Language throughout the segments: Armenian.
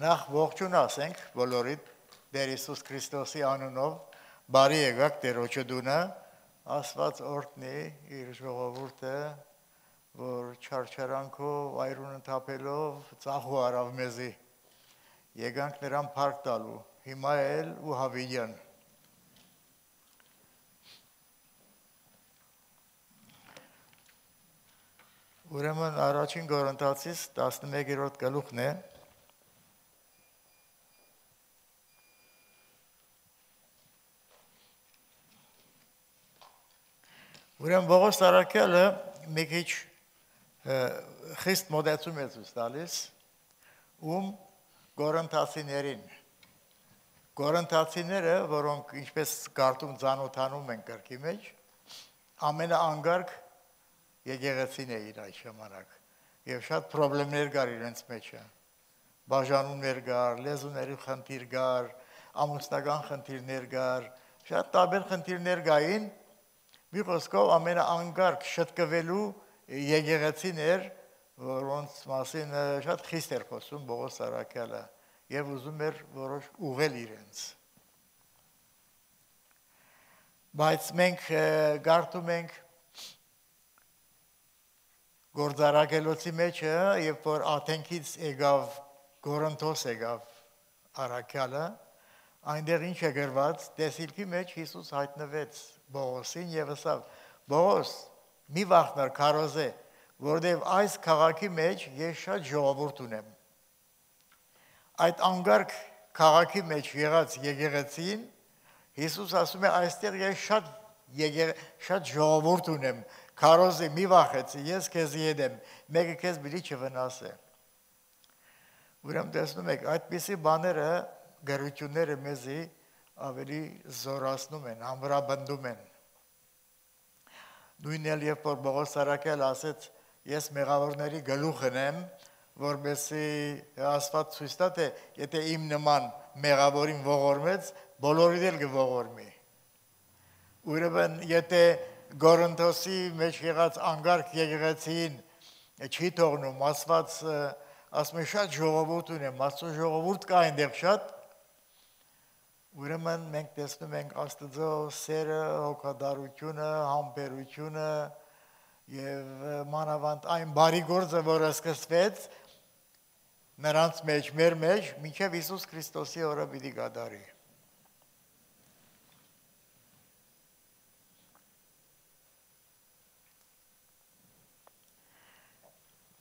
Նախ ողջուն ասենք բոլորիդ Տեր Հիսուս Քրիստոսի անունով բարի եկաք Տերոջը դունը Աստված օրհնի իր ժողովուրդը որ չարչարանքով այրուն ընթապելով ծախու արավ մեզի եկանք նրան փառք տալու հիմա էլ ու հավիյան Ուրեմն առաջին Կորինթացիս 11-րդ գլուխն է Ուրեմն Պողոս Արաքյալը մի քիչ խիստ մոդեցում է ցույց տալիս Կորինթացիներին Կորինթացիները, որոնք ինչպես կարդում ծանոթանում են կրկի մեջ, ամենաանգարկ եկեղեցին էին այդ ժամանակ եւ շատ խնդիրներ կար իրենց մեջ բաժանումներ կար, լեզուների խնդիր կար, ամուսնական խնդիրներ կար, շատ տարբեր խնդիրներ կային Մի խոսքով ամենաանգարկ շտկվելու եկեղեցին էր, որոնց մասին շատ խիստ էր խոսում Պողոս Արաքյալը եւ ուզում էր որոշ ուղղել իրենց Բայց մենք գարտում ենք գործարակելոցի մեջը, երբ որ Աթենքից եկավ Կորինթոս եկավ Արաքյալը, այնտեղ ինչ է գրված, տեսիլքի մեջ Հիսուս հայտնվեց Պողոսին եւ ասավ. Պողոս, մի վախնար քարոզե, որտեւ այս քաղաքի մեջ ես շատ ժողովուրդ ունեմ։ Այդ անգարկ քաղաքի մեջ եղած եկեղեցին Հիսուս ասում է այստեղ ես շատ ժողովուրդ ունեմ։ Քարոզե մի վախեցի, ես քեզ հետ եմ, մեկը քեզ բիլի չվնասե։ Ուրեմն տեսնում եք, այդպիսի բաները գերությունները մեզի ավելի զորացնում են, ամրապնդում են։ Նույնն էլ երբ որ Պողոս Արաքյալը ասեց, ես մեղավորների գլուխն եմ, որպեսզի Աստված ցույց տա, թե եթե իմ նման մեղավորին ողորմեց, բոլորին էլ կողորմի։ Ուրեմն եթե Կորինթոսի մեջ եղած անգարկ եկեղեցին չի թողնում, Աստված ասում է շատ ժողովուրդ ունեմ, Աստծո ժողովուրդ կա այնտեղ շատ Ուրեմն մենք տեսնում ենք Աստծո սերը, հոգատարությունը, համբերությունը եւ մանավանդ այն բարի գործը, որը սկսվեց նրանց մեջ, մեր մեջ, մինչեւ Հիսուս Քրիստոսի օրը պիտի կատարի։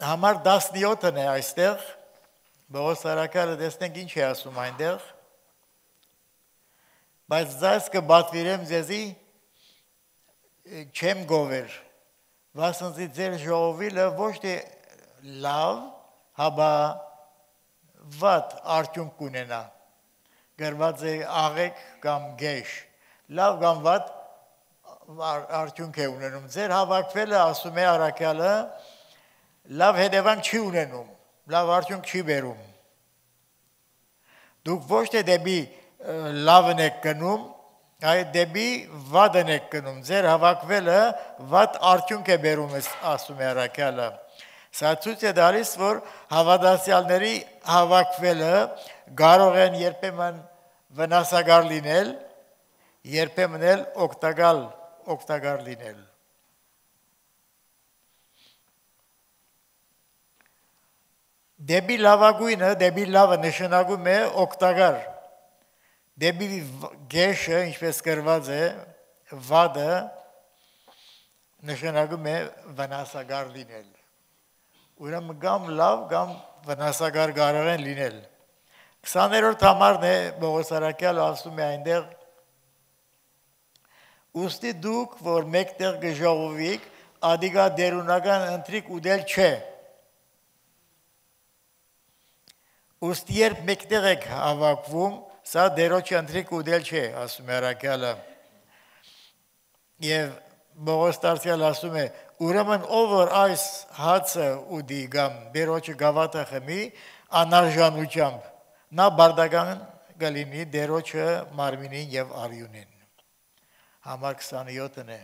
Համար 17-ն է այստեղ, Պողոս Արաքյալը տեսնենք ինչ է ասում այնտեղ Բայց ձեզ կբատվիրեմ ձեզի չեմ գովեր, վասնզի ձեր ժողովիլը ոչ թե լավ, հաբա վատ արդյունք կունենա, գրված է աղեք կամ գեշ, լավ կամ վատ արդյունք է ունենում, ձեր հավաքվելը ասում է Արաքյալը, լավ հետևանք չի ունենում, լավ արդյունք չի բերում, դուք ոչ թե դեպի լավն եք գնում, այդ դեպի վատն եք գնում, ձեր հավաքվելը վատ արդյունք է բերում, ասում է Արաքյալը։ Սա ցույց է տալիս, որ հավատացյալների հավաքվելը կարող են երբեմն վնասակար լինել, երբեմն էլ օգտակար լինել։ Դեպի լավագույնը, դեպի լավը նշանակում է օգտակար Դեպի գեշը, ինչպես գրված է, վադը նշանակում է վնասակար լինել։ Ուրեմն կամ լավ, կամ վնասակար կարող են լինել։ 20-րդ համարն է Պողոս Արաքյալը ասում է այնտեղ Ուստի դուք, որ մեկտեղ կժողովիք, ադիգա դերունական ընթրիկ ուդել չէ։ Ուստի երբ մեկտեղ եք հավաքվում, Սա դերոջի ընթրիկ ուդել չէ, ասում է Արաքյալը։ Եվ Պողոս Տարսյալը ասում է, ուրեմն ով որ այս հացը ուդի կամ դերոջի գավաթը խմի, անարժանությամբ, նա բարդական կլինի դերոջը մարմինին եւ արյունին։ Համար 27-ն է։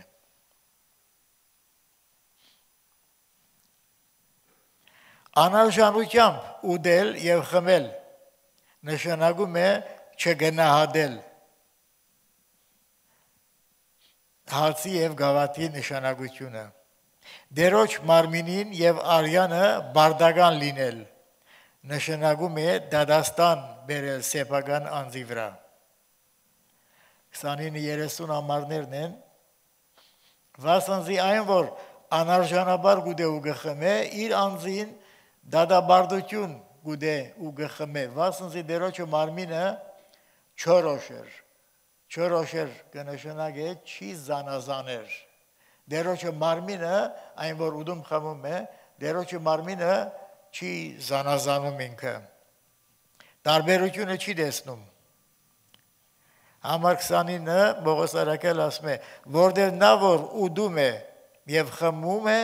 Անարժանությամբ ուդել եւ խմել նշանակում է չգնահատել հացի եւ գավաթի նշանակությունը դերոջ մարմինին եւ արյանը բարդական լինել նշանակում է դադաստան բերել սեփական անձի վրա 29-30 ամառներն են վասնզի այն որ անարժանաբար գուդե ու գխմե իր անձին դադաբարդություն գուդե ու գխմե վասնզի դերոջը մարմինը չորոշեր կնշանակե չի զանազաներ դերոջը մարմինը այն որ ուդում խմում է դերոջը մարմինը չի զանազանում ինքը տարբերությունը չի տեսնում Համար 29 Պողոս Արաքելը ասում է, որտեղ նա որ ուդում է եւ խմում է,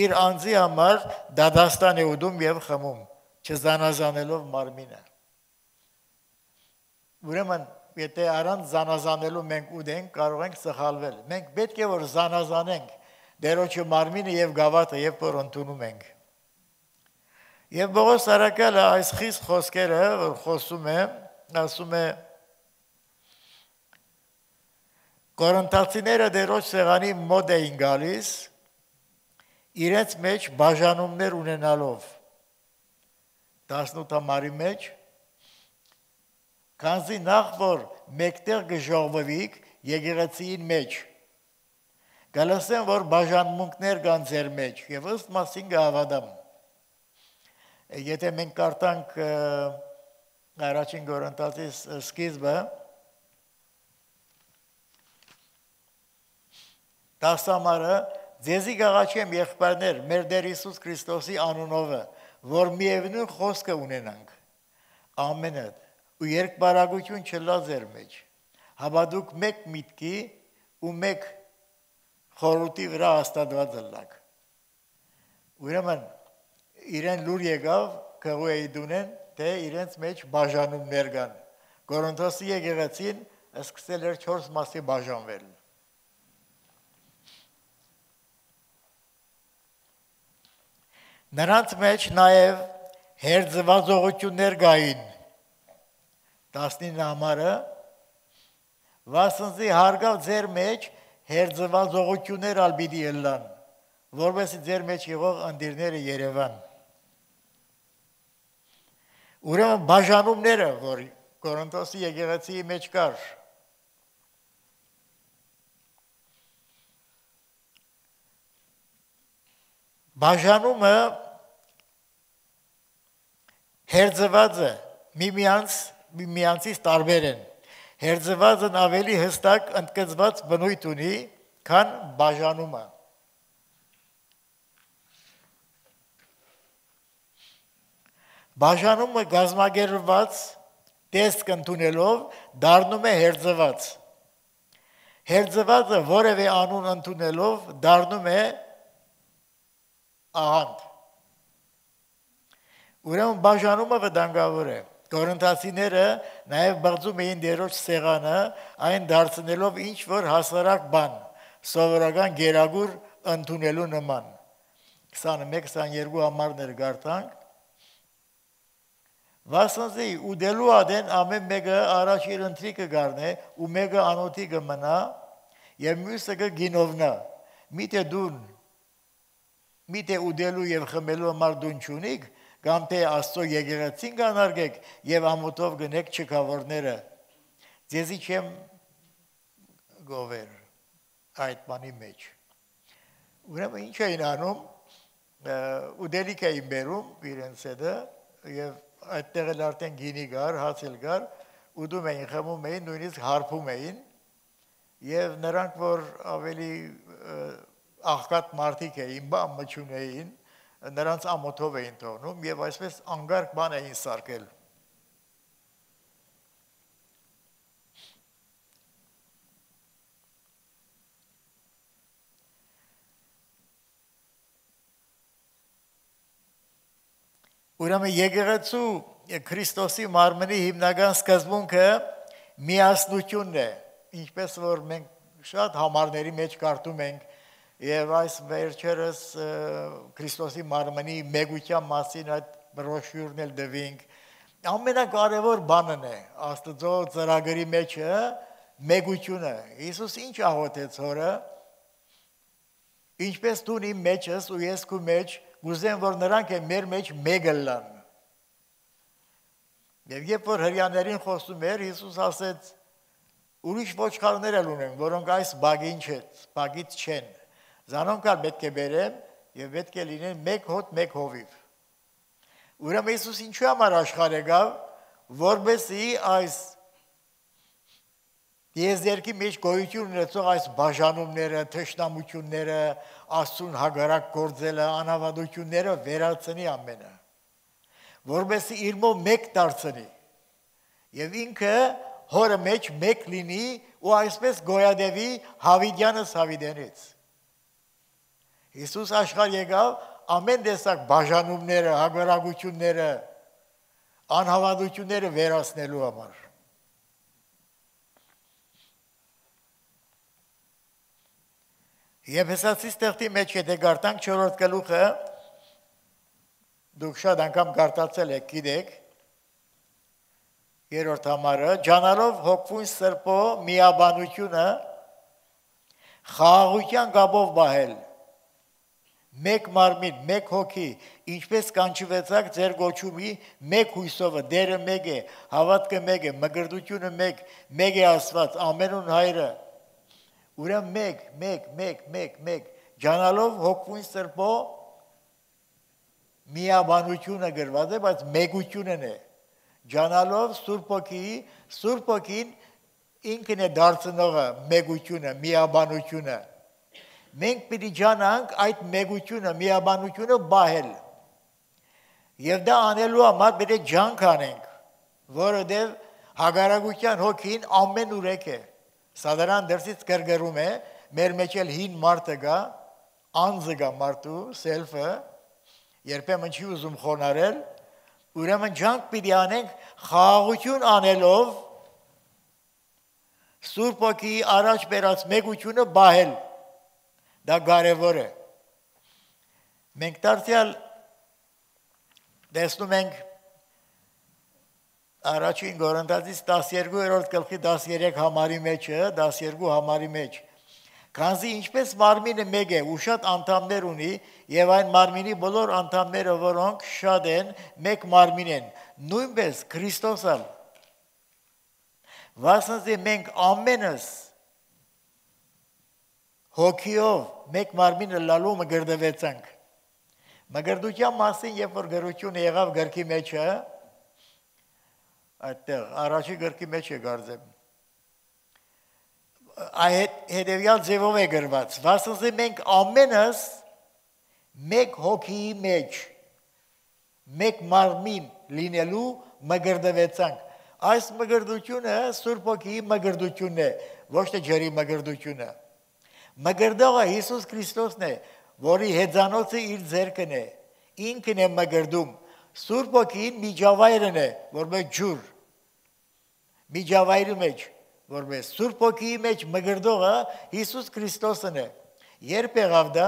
իր անձի համար դադաստան է ուդում եւ խմում, չզանազանելով մարմինը։ Ուրեմն, եթե առանց զանազանելու մենք ուդենք, կարող ենք սխալվել։ Մենք պետք է որ զանազանենք դերոջը մարմինը եւ գավաթը, երբ որ ընդունում ենք։ Եվ Պողոս Արաքելը այս խիստ խոսքերը, որ խոսում է, ասում է Կորինթացիները դերոջ սեղանի մոտ էին գալիս, իրենց մեջ բաժանումներ ունենալով, 18 ամառի մեջ, քանզի նախ որ մեկտեղ գժողվվիք եկեղեցիին մեջ, գալասեն որ բաժանմունքներ կան ձեր մեջ, և ըստ մասին կհավատամ։ Եթե մենք կարդանք առաջին Կորինթացի սկիզբը, 10 ամառը ձեզի գաղաչեմ եղբայրներ մեր Տեր Հիսուս Քրիստոսի անունովը, որ միևնույն խոսքը ունենանք, ամենը, ու երկբարագություն չլա ձեր մեջ, հավատուք մեկ միտքի ու մեկ խորհրդի վրա հաստատված ըլլաք։ Ուրեմն իրեն լուր եկավ քղուեի դունեն, թե իրենց մեջ բաժանումներ կան։ Կորինթոսի եկեղեցին սկսել էր 4 մասի բաժանվել։ Նրանց մեջ նաև հերձվածողություններ կային 19 ամառը վասնզի հարգավ ձեր մեջ հերձվածողություններ ալ պիտի ելան որովհետեւ ձեր մեջ եղող անդիրները Երևան ուրեմն բաժանումները որ Կորինթոսի եկեղեցիի մեջ կար բաժանումը Հերձվածը միմյանցից տարբեր են։ Հերձվածն ավելի հստակ ընդգծված բնույթ ունի, քան բաժանումը։ Բաժանումը գազմագերված տեսք ընդունելով դառնում է հերձված։ Հերձվածը որևէ անուն ընդունելով դառնում է ահանդ։ Ուրեմն բաժանումը վտանգավոր է։ Կորինթացիները նաև բացում էին դերոջ սեղանը, այն դարձնելով ինչ որ հասարակ բան, սովորական գերագուր ընդունելու նման։ 21-22 ամառներ գարտանք։ Վասնզի ուդելու ադեն ամեն մեկը առաջ իր ընթրիկը գարնե ու մեկը անոթի կմնա եւ մյուսը կգինովնա։ Միթե ուդելու եւ խմելու համար դուն չունիք, կամ թե Աստծո եկեղեցին կանարգեք եւ ամոթով գնեք չքավորները։ Ձեզի չեմ գովեր այդ բանի մեջ։ Ուրեմն ինչ էին անում, ուդելիք էին բերում իրենց հետը եւ այդտեղ էլ արդեն գինի գար, հացել գար, ուդում էին, խմում էին, նույնիսկ հարբում էին եւ նրանք որ ավելի աղքատ մարդիկ էին, բան մչուն էին նրանց ամոթով էին թողնում եւ այսպես անգարկ բան էին սարքել։ Ուրեմն եկեղեցու Քրիստոսի մարմնի հիմնական սկզբունքը միասնությունն է, ինչպես որ մենք շատ համարների մեջ կարդում ենք Եվ այս վերջերս Քրիստոսի մարմնի մեգության մասին այդ բրոշյուրն էլ դվինք, ամենակարևոր բանն է Աստծո ծրագրի մեջը մեգությունը։ Հիսուս ինչ աղոթեց հորը, ինչպես դու իմ մեջս ու ես քո մեջ, գուզեմ որ նրանք է մեր մեջ մեկը լան։ Եվ երբ որ հրյաներին խոսում էր, Հիսուս ասեց. ուրիշ ոչխարներ էլ ունեմ, որոնք այս բագից չեն։ Զանոնք ալ պետք է բերեմ եւ պետք է լինեն մեկ հոտ, մեկ հովիվ։ Ուրեմն Հիսուս ինչու համար աշխարհ եկավ, որբեսի այս եզերքի մեջ գոյություն ունեցող այս բաժանումները, թշնամությունները, Աստծուն հագարակ գործելը, անավանդությունները վերացնի ամենը, որբեսի իր մոտ մեկ դարձնի եւ ինքը հորը մեջ մեկ լինի ու այսպես գոյադևի Հավիդյանս Հավիդենից։ Հիսուս աշխարհ եկավ ամեն տեսակ բաժանումները, հագարակությունները, անհավատությունները վերացնելու համար։ Եփեսացիս տեխտի մեջ եթե գարտանք 4-րդ գլուխը, դուք շատ անգամ գարտացել եք, գիտեք, 3-րդ համարը, ջանալով հոգվուն սրբո միաբանությունը խաղաղության գաբով բահել, մեկ մարմին, մեկ հոգի, ինչպես կանչվեցաք ձեր գոչումի մեկ հույսովը, դերը մեկ է, հավատքը մեկ է, մգրտությունը մեկ է Աստված, ամենուն հայրը, ուրեմն մեկ, ջանալով հոգվուն սրբո միաբանությունը գրված է, բայց մեգությունն է, ջանալով Սուրբ Հոգին ինքն է դարձնողը մեգությունը, միաբանությունը, մենք պիտի ջանանք այդ մեգությունը, միաբանությունը բահել, և դա անելու համար պետք է ջանք անենք, որովհետև հագարակության հոգին ամեն ուրեք է, Սադարան դրսից գրգռում է, մեր մեջ էլ հին մարդը գա, անձը գա մարդու, սելֆը, երբեմն չի ուզում խոնարել, ուրեմն ջանք պիտի անենք խաղաղություն անելով Սուրբ Հոգիի առաջ բերած մեգությունը բահել, դա կարևոր է։ Մենք դարձյալ տեսնում ենք առաջին Կորինթացիս 12-րդ գլխի 13 համարի մեջ, քանզի ինչպես մարմինը մեկ է ու շատ անդամներ ունի, եւ այն մարմինի բոլոր անդամները, որոնք շատ են, մեկ մարմին են, նույնպես Քրիստոսը, վասնզի մենք ամենս հոգիով մեկ մարմինը լալու մգրդվեցանք։ Մգրդության մասին, երբ որ գրություն եղավ գրքի մեջը, այդտեղ առաջի գրքի մեջ է կարծեմ, հետևյալ ձևով է գրված, վասնզի մենք ամենս մեկ հոգիի մեջ, մեկ մարմին լինելու մգրդվեցանք։ Այս մգրդությունը Սուրբ Հոգիի մգրդությունն է, ոչ թե ջրի մգրդությունը։ Մգրդողը Հիսուս Քրիստոսն է, որի հեծանոցը իր ձեռքն է, ինքն է մգրդում, Սուրբ Հոգին միջավայրն է, որպես ջուր, միջավայրի մեջ, որպես Սուրբ Հոգիի մեջ մգրդողը Հիսուս Քրիստոսն է։ Երբ եղավ դա,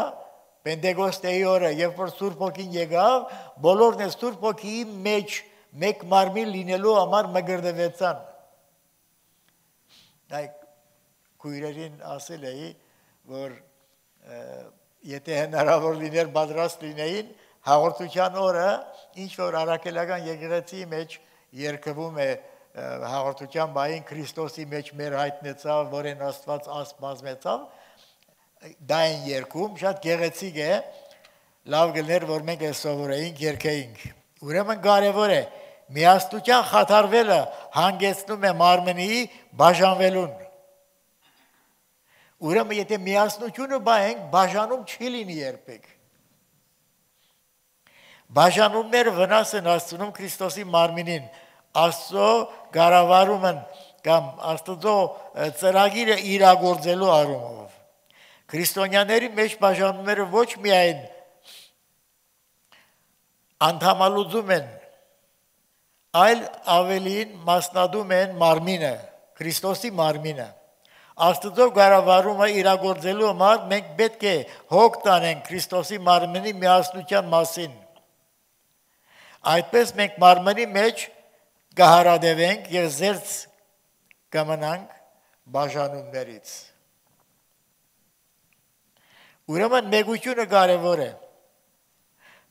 Պենտեկոստեի օրը, երբ որ Սուրբ Հոգին եկավ, բոլորն է Սուրբ Հոգիի մեջ մեկ մարմին լինելու համար մգրդվեցան։ Այդ քույրերին ասել էի, որ եթե հնարավոր լիներ պատրաստ լինեին, հաղորդության օրը ինչ որ առաքելական եկեղեցի մեջ երկվում է հաղորդության բային Քրիստոսի մեջ մեր հայտնեցավ, որեն Աստված ասպ բազմեցավ, դա են երկում, շատ գեղեցիկ է, լավ գլներ, որ մենք է սովորեինք, երկեինք։ Ուրեմն կարևոր է, միասնության խաթարվելը հանգեցնում է մարմնի բաժանվելուն։ Ուրեմն եթե միասնությունը բահենք, բաժանում չի լինի երբեք։ Բաժանումները վնաս են հասցնում Քրիստոսի մարմինին, Աստծո կառավարումն կամ Աստծո ծրագիրը իրագործելու առումով։ Քրիստոնյաների մեջ բաժանումները ոչ միայն անդամալուծում են, այլ ավելին մասնադում են մարմինը, Քրիստոսի մարմինը։ Աստծո կառավարումը իրագործելու համար մենք պետք է հոգ տանենք Քրիստոսի մարմնի միասնության մասին։ Այդպես մենք մարմնի մեջ կհարադևենք եւ զերծ կմնանք բաժանումներից։ Ուրեմն մեգությունը կարևոր է։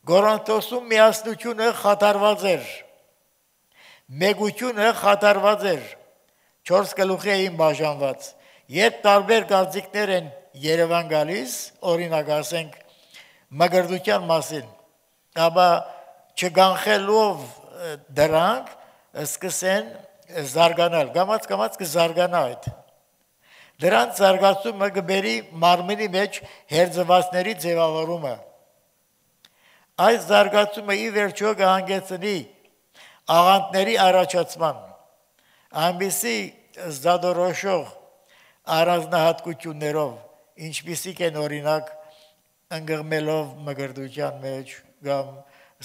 Գորոնթոսում միասնությունը խաթարված էր։ Մեգությունը խաթարված էր։ 4 գլուխի էին բաժանված։ Երբ տարբեր գաղձիկներ են Երևան գալիս, օրինակ ասենք մգրդության մասին, ապա չգանխելով դրանք սկսեն զարգանալ, կամաց կզարգանա այդ։ Դրանց զարգացումը կբերի մարմնի մեջ հերձվածների ձևավորումը։ Այս զարգացումը ի վերջո կհանգեցնի աղանդների առաջացման, այնպիսի զադորոշող առանձնահատկություններով, ինչպիսիք են օրինակ ընկղմելով մգրդության մեջ կամ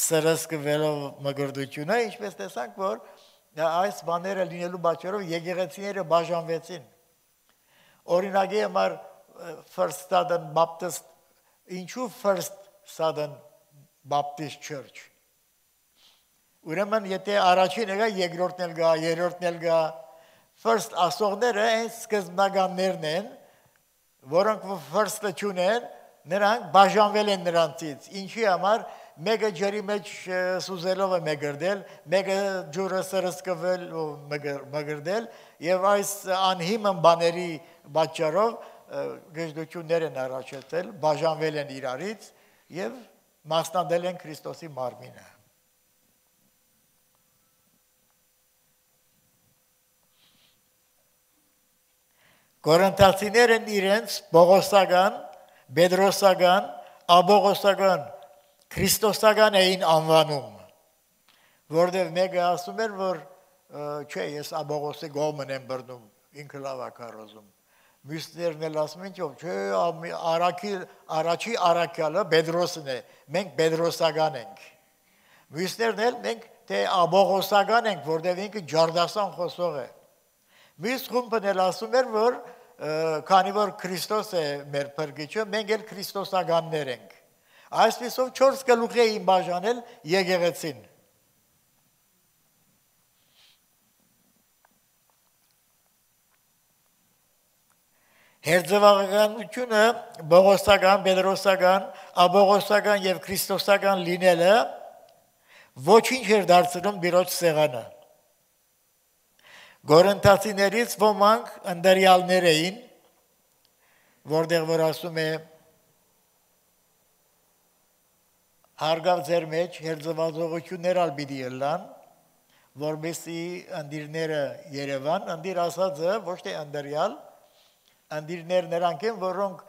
սրսկվելով մգրդությունը, ինչպես տեսանք, որ այս բաները լինելու պատճառով եկեղեցիները բաժանվեցին։ Օրինակի համար First Southern Baptist, ինչու First Southern Baptist Church։ Ուրեմն եթե առաջին եկա, երկրորդն էլ գա, երրորդն էլ գա, First ասողները այն սկզբնականներն են, որոնք First-ը չունեն, նրանք բաժանվել են նրանցից։ Ինչի համար մեկը ջրի մեջ սուզելով է մգրդել, մեկը ջուրը սրսկվել ու մգրդել, եւ այս անհիմն բաների պատճառով գժդություններ են առաջացել, բաժանվել են իրարից եւ մասնադել են Քրիստոսի մարմինը։ Կորինթացիներն իրենց Պողոսական, Պետրոսական, Աբողոսական, Քրիստոսական էին անվանում, որտեղ մեկը ասում էր, որ չէ, ես Աբողոսի գոմն եմ բռնում, ինքը լավ է քարոզում։ Մյուսներն էլ ասում են, չէ, առաջի առաքյալը Պետրոսն է, մենք Պետրոսական ենք։ Մյուսներն էլ մենք թե Աբողոսական ենք, որտեղ ինքը ջարդասան խոսող է։ Մյուս խումբն էլ ասում էր, որ քանի որ Քրիստոս է մեր փրկիչը, մենք էլ քրիստոսականներ ենք։ Այսպիսով 4 գլուխ էին բաժանել եկեղեցին։ Հերձվաղականությունը բողոսական, պետրոսական, աբողոսական եւ քրիստոսական լինելը ոչինչ էր դարձնում Տիրոջ սեղանը։ Գորընթացիներից ոմանք ընդդարյալներ էին, որտեղ որ ասում է հարգավ ձեր մեջ հերձվածողություններ ալ պիտի ելան, որպեսզի ընդիրները Երևան, ընդիր ասածը ոչ թե ընդդարյալ, ընդիրներ նրանք են, որոնք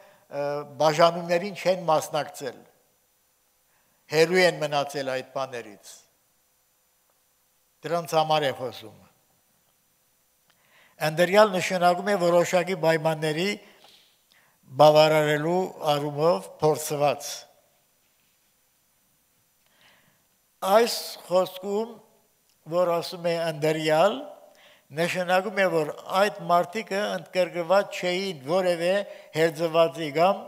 բաժանումներին չեն մասնակցել, հերու են մնացել այդ բաներից, դրանց համար է խոսում։ Ընդդարյալ նշանակում է որոշակի պայմանների բավարարելու առումով փորձված։ Այս խոսքում, որ ասում է ընդդարյալ, նշանակում է, որ այդ մարդիկը ընդգրկված չէին որևէ հերձվածի կամ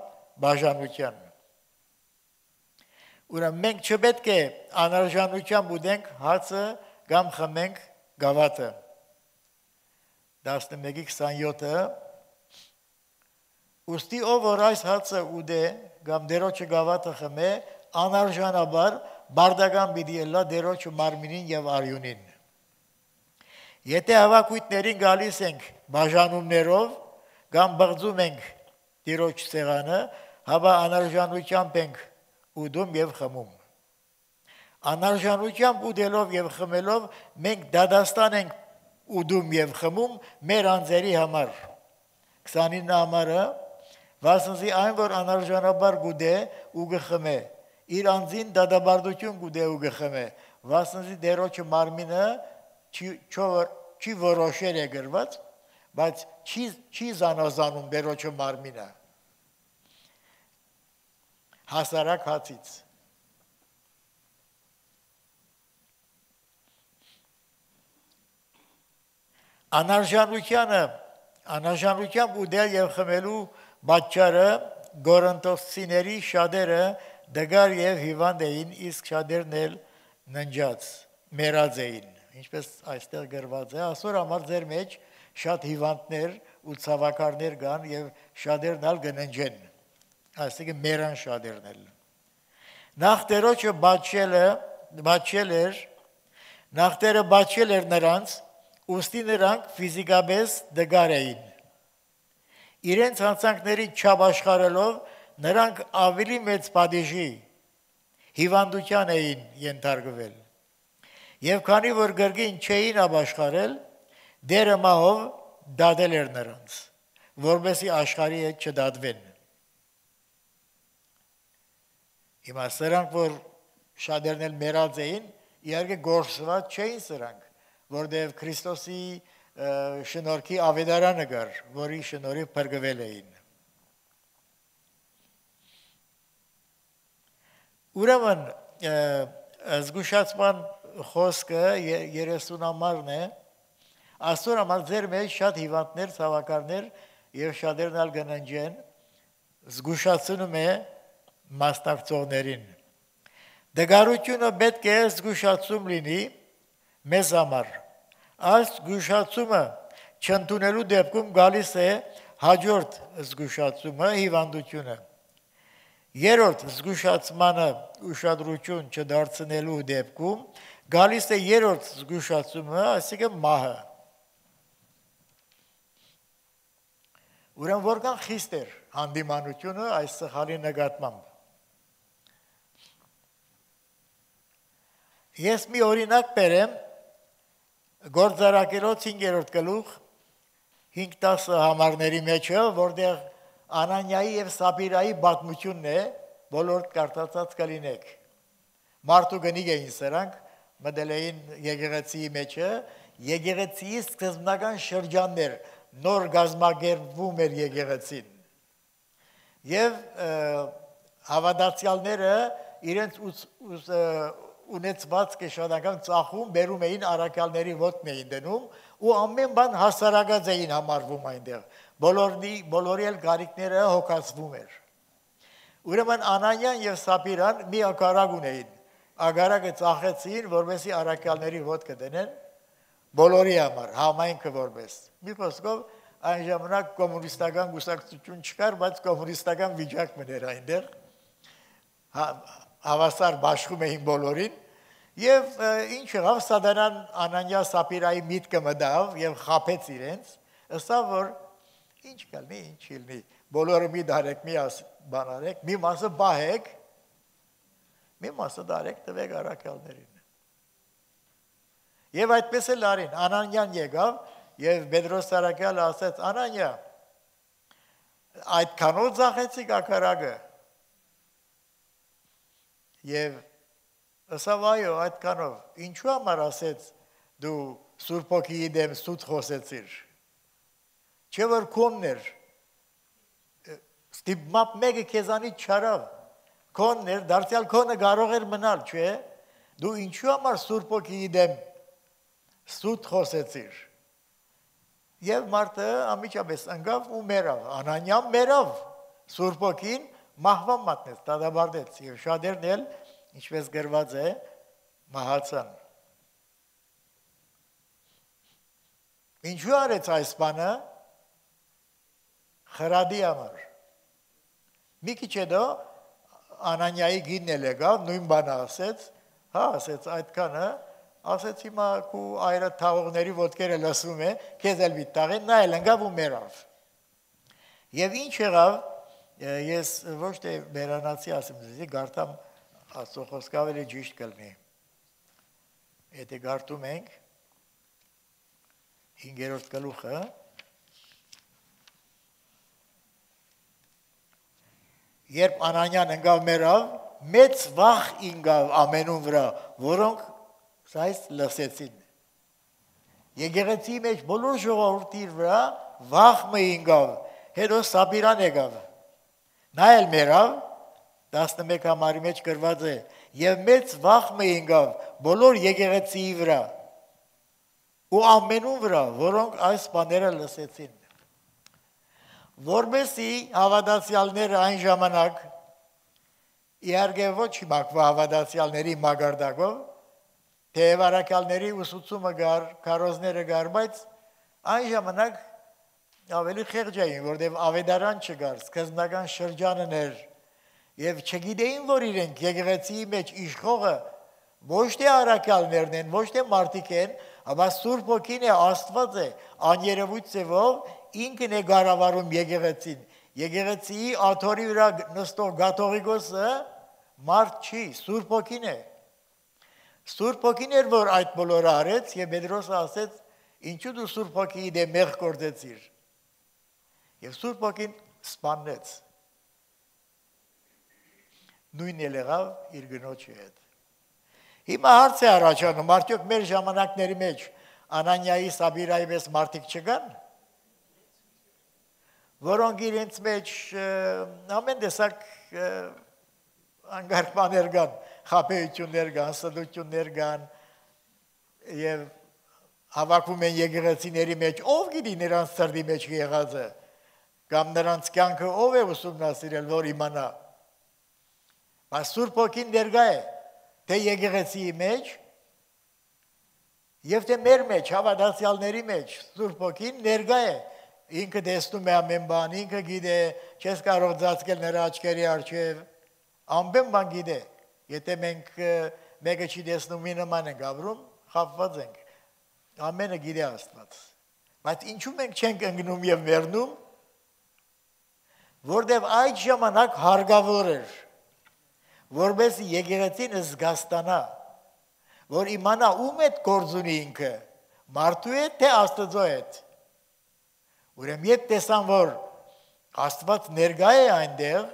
բաժանության։ Ուրեմն մենք չպետք է անարժանությամբ ուտենք հացը կամ խմենք գավաթը։ 11:27 Ուստի ով որ այս հացը ուտե կամ դերոջը գավաթը խմե, անարժանաբար բարդական պիտի ելա դերոջը մարմինին եւ արյունին։ Եթե հավաքույտներին գալիս ենք բաժանումներով կամ բղձում ենք դերոջ սեղանը, հավա անարժանությամբ ենք ուտում եւ խմում։ Անարժանությամբ ուտելով եւ խմելով մենք դադաստան ենք ուդում եւ խմում մեր անձերի համար 29 համարը վասնզի այն որ անարժանաբար գուդե ու գխմե իր անձին դադաբարդություն գուդե ու գխմե վասնզի դերոջը մարմինը չի որոշել է գրված բայց չի զանազանում դերոջը մարմինը հասարակ հացից Անարժանությամբ ուտել եւ խմելու պատճառը գորընթոսիների շատերը դգար եւ հիվանդ էին, իսկ շատերն էլ ննջած, մեռած էին ինչպես այստեղ գրված է, ասոր համար ձեր մեջ շատ հիվանդներ ու ցավակարներ կան եւ շատերն ալ կննջեն, այսինքն մերան շատերն էլ։ Նախ Տերոջը բաչել էր նրանց, ուստի նրանք ֆիզիկապես դգար էին։ Իրենց հանցանքների չապաշխարելով նրանք ավելի մեծ падիժի հիվանդության էին ենթարկվել։ Եվ քանի որ գրգին չէին ապաշխարել, դերը մահով դատել էր նրանց, որպեսզի աշխարհի հետ չդատվեն։ Հիմա սրանք, որ շատերն էլ մեռած էին, իհարկե գործված չէին սրանք, որտեղ Քրիստոսի շնորհքի ավետարանը կար, որի շնորհիվ փրկվել էին։ Ուրեմն զգուշացման խոսքը 30-ամարն է, այսօր համար ձեր մեջ շատ հիվանդներ, ցավակարներ եւ շատերն ալ կննջեն, զգուշացնում է մասնակցողներին։ Դգարությունը պետք է զգուշացում լինի մեզ համար։ Այս զգուշացումը չընդունելու դեպքում գալիս է հաջորդ զգուշացումը, հիվանդությունը։ Երրորդ զգուշացմանը ուշադրություն չդարձնելու դեպքում գալիս է երրորդ զգուշացումը, այսինքն մահը։ Ուրեմն որքան խիստ էր հանդիմանությունը այս սխալի նկատմամբ։ Ես մի օրինակ բերեմ Գործարակերոց 5-րդ գլուխ 5-10 համարների մեջը, որտեղ Անանիայի եւ Սապիրայի պատմությունն է, բոլոր կարդացած կլինեք։ Մարդու գնիկ էին սրանք, մտել էին եկեղեցիի մեջը, եկեղեցիի սկզբնական շրջաններ, նոր գազմագերվում էր եկեղեցին։ Եվ հավատացյալները իրենց ունեցված կշանական ծախում բերում էին առաքյալների ոտն էին դնում ու ամեն բան հասարակած էին համարվում այնտեղ։ Բոլորի էլ գարիկները հոգացվում էր։ Ուրեմն Անանիան եւ Սապիրան մի ակարակ ունեին։ Ագարակը ծախեցին, որովհետեւ առաքյալների ոտքը դնեն բոլորի համար, համայնքը որպես։ Մի խոսքով այն ժամանակ կոմունիստական գուսակցություն չկար, բայց կոմունիստական վիճակ մներ այնտեղ։ Հավասար բաշխում էին բոլորին եւ ինչ եղավ Սատանան Անանիա Սապիրայի միտքը մտավ եւ խաբեց իրենց, ըստավ որ ինչ կլինի, ինչ լինի, բոլորը մի դարեք, մի բան արեք, մի մասը բահեք, մի մասը դարեք տվեք առաքյալներին։ Եվ այդպես էլ արին, Անանիան եկավ եւ Պետրոս առաքյալը ասեց. Անանիա, այդքանով ծախեցիք ակարակը։ Եվ ասավ այո, այդքանով, ինչու համար ասեց դու Սուրբ Հոգիի դեմ սուտ խոսեցիր։ Չէ որ քոնն էր, ստիպմապ մեկը քեզանից չարավ, քոնն էր, դարձյալ քոնը կարող էր մնալ, չէ, դու ինչու համար Սուրբ Հոգիի դեմ սուտ խոսեցիր։ Եվ մարդը ամիջապես ընկավ ու մեռավ, Անանիան մեռավ, Սուրբ Հոգին մահվան մատնեց, դատապարտեց եւ շատերն էլ, ինչպես գրված է, մահացան։ Ինչու արեց այս բանը։ Խրադի համար։ Մի քիչ հետո Անանիայի գինն էլ եկավ, նույն բանը ասեց, հա, ասեց այդքանը, ասեց հիմա քու այրը թաղողների ոտքերը լսվում է, քեզ էլ մի տաղեն, նա էլ ընկավ ու մեռավ։ Եվ ինչ եղավ, ես ոչ թե բերանացի ասեմ ձեզի, գարտամ Աստծո խոսքը ավելի ճիշտ կլինի։ Եթե գարտում ենք 5-րդ գլուխը, երբ Անանիան ընկավ մեռավ, մեծ վախ ինգավ ամենուն վրա, որոնք այս լսեցին։ Եկեղեցի մեջ բոլոր ժողովրդի վրա վախ մը ինգավ, հետո Սապիրան եկավ։ Նա էլ մեռավ, 11 համարի մեջ գրված է, եւ մեծ վախ մը ինգավ բոլոր եկեղեցիի վրա ու ամենուն վրա, որոնք այս բաները լսեցին։ Որպեսզի հավատացյալները այն ժամանակ, իհարկե ոչ հիմա հավատացյալների մագարտակով, թեև առաքյալների ուսուցումը գար, քարոզները գար, բայց այն ժամանակ ավելի խեղճ էին, որտեղ ավետարան չկար, սկզբնական շրջանն էր, եւ չգիտեին, որ իրենք եկեղեցիի մեջ իշխողը ոչ թե առաքյալներն են, ոչ թե մարդիկ են, ապա Սուրբ Հոգին է, Աստված է, աներևույթ ձևով ինքն է գարավարում եկեղեցին։ Եկեղեցիի աթոռի վրա նստող գաթողիկոսը մարդ չի, Սուրբ Հոգին է։ Սուրբ Հոգին էր, որ այդ բոլորը արեց, եւ Պետրոսը ասեց, ինչու դու Սուրբ Հոգիի դեմ մեղք գործեցիր։ Եվ Սուրբ Հոգին սպանեց։ Նույնն էլ եղավ իր գնոջի հետ։ Հիմա հարց է առաջանում, արդյոք մեր ժամանակների մեջ Անանիայի, Սաբիրայի պես մարդիկ չկան, որոնք իրենց մեջ ամեն տեսակ անգարկ բաներ կան, խաբեություններ կան, սդություններ կան եւ հավաքվում են եկեղեցիների մեջ, ով գիտի նրանց սրտի մեջ եղածը, կամ նրանց կյանքը ով է ուսումնասիրել, որ իմանա։ Բայց Սուրբ Հոգին ներկա է, թե եկեղեցիի մեջ եւ թե մեր մեջ, հավատացյալների մեջ, Սուրբ Հոգին ներկա է, ինքը տեսնում է ամեն բան, ինքը գիտե, չես կարող ծածկել նրա աչքերի առջև, ամեն բան գիտե։ Եթե մենք մեկը չի տեսնում, մի նման ենք ապրում, խաբված ենք։ Ամենը գիտե Աստված։ Բայց ինչու մենք չենք ընկնում եւ մեռնում, որտեւ այդ ժամանակ հարգավոր էր, որպես եկեղեցին զգաստանա, որ իմանա ում հետ գործ ունի ինքը, մարդու հետ թե Աստծո հետ։ Ուրեմն երբ տեսան, որ Աստված ներկա է այնտեղ,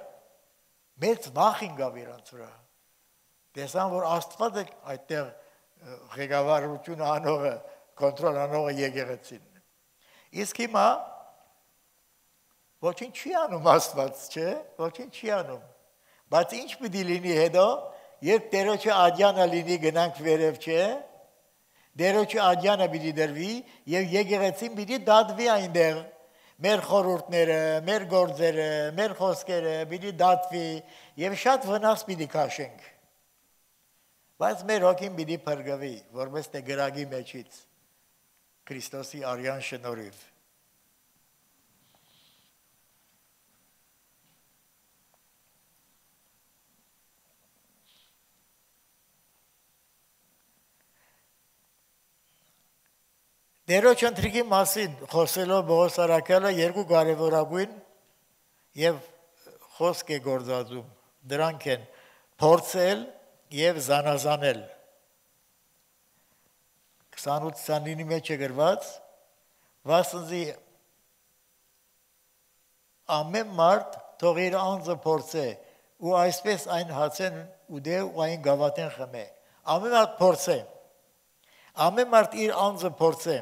մեծ վախ ինգավ իրանց վրա։ Տեսան, որ Աստված է այդտեղ ղեկավարությունը անողը, կոնտրոլ անողը եկեղեցին։ Իսկ հիմա ոչինչ չի անում Աստված, չէ՞, ոչինչ չի անում։ Բայց ինչ պիտի լինի հետո, երբ Տերոջը աջանը լինի գնանք վերև, չէ՞, Տերոջը աջանը պիտի դրվի եւ եկեղեցին պիտի դատվի այնտեղ։ Մեր խորհուրդները, մեր գործերը, մեր խոսքերը պիտի դատվի եւ շատ վնաս պիտի քաշենք։ Բայց մեր հոգին պիտի փրկվի, որպես թե գրագի մեջից Քրիստոսի արյան շնորհիվ։ Տերոջ ընթրիքի մասին խոսելով Պողոս առաքյալը երկու կարևորագույն եւ խոսք է գործածում, դրանք են փորձել եւ զանազանել։ 28-29-ի մեջ է գրված, վասնզի ամեն մարդ թող իր անձը փորձե ու այսպես այն հացեն ուդե ու այն գավաթեն խմե։ Ամեն մարդ փորձե։ Ամեն մարդ իր անձը փորձե։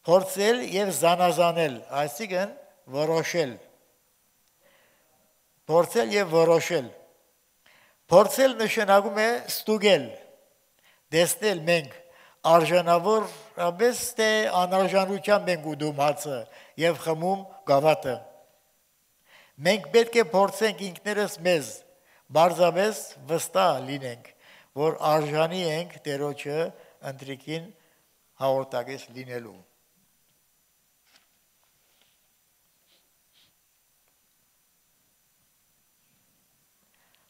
Փորձել եւ զանազանել, այսինքն որոշել։ Փորձել եւ որոշել։ Փորձել նշանակում է ստուգել, տեսնել մենք արժանավորապես թե անարժանությամբ ենք ուտում հացը եւ խմում գավաթը։ Մենք պետք է փորձենք ինքներս մեզ, բարձրապես վստահ լինենք, որ արժանի ենք Տերոջը ընտրիկին հաղորդակից լինելու։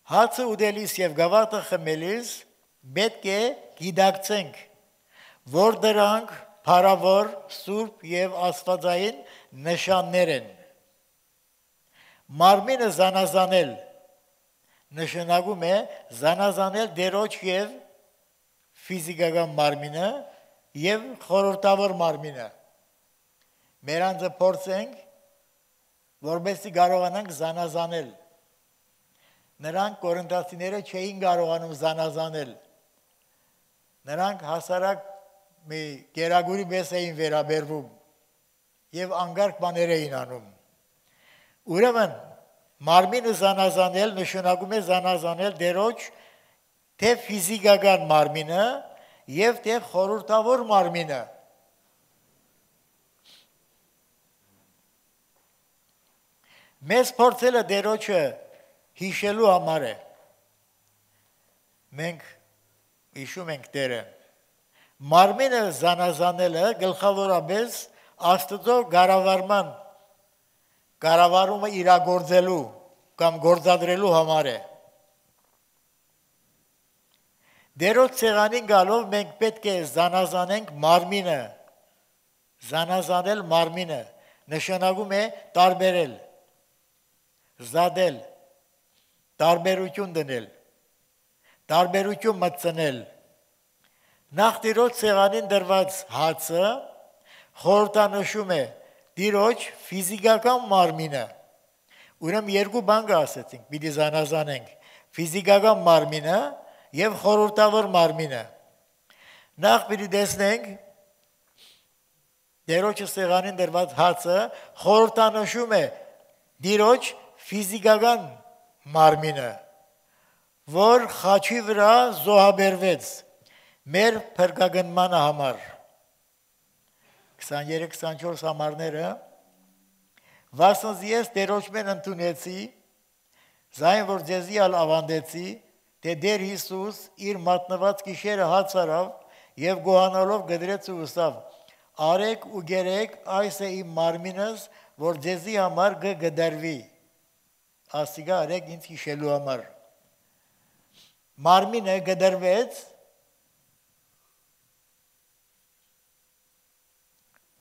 Հացը ուտելիս եւ գավաթը խմելիս պետք է գիտակցենք, որ դրանք փառավոր, սուրբ եւ աստվածային նշաններ են։ Մարմինը զանազանել նշանակում է զանազանել Տերոջ եւ ֆիզիկական մարմինը եւ խորհրդավոր մարմինը։ Մեր անձը փորձենք, որովհետեւ կարողանանք զանազանել։ Նրանք կորինթացիները չէին կարողանում զանազանել։ Նրանք հասարակ մի գերագուրի պես էին վերաբերվում եւ անգարկ բաներ էին անում։ Ուրեմն մարմինը զանազանել նշանակում է զանազանել Տերոջ թե ֆիզիկական մարմինը եւ թե խորհրդավոր մարմինը։ Մեզ փորձելը Տերոջը հիշելու համար է։ Մենք Հիշում ենք Տերը։ Մարմինը զանազանելը գլխավորապես Աստծո կառավարումը իրագործելու կամ գործադրելու համար է։ Դերոց ցեղանին գալով մենք պետք է զանազանենք մարմինը։ Զանազանել մարմինը նշանակում է տարբերել, զադել, տարբերություն դնել, տարբերություն մտցնել։ Նախ Տիրոջ ցեղանին դրված հացը խորհրդանշում է Տիրոջ ֆիզիկական մարմինը։ Ուրեմն երկու բան ասեցինք, պիտի զանազանենք ֆիզիկական մարմինը եւ խորհրդավոր մարմինը։ Նախ պիտի տեսնենք Տիրոջ ցեղանին դրված հացը խորհրդանշում է Տիրոջ ֆիզիկական մարմինը, որ խաչի վրա զոհաբերվեց մեր փրկագնմանը համար։ 23-24 համարները Վասնզի ես Տերոջմեն ընդունեցի, զայն որ ձեզի ալ ավանդեցի, թե Տեր Հիսուս իր մատնված գիշերը հաց արավ եւ գոհանալով գդրեց ու ուսավ. արեք ու գերեք, այս է իմ մարմինս, որ ձեզի համար կգդարվի։ Ասիկա արեք ինձ հիշելու համար։ Մարմինը գդարվեց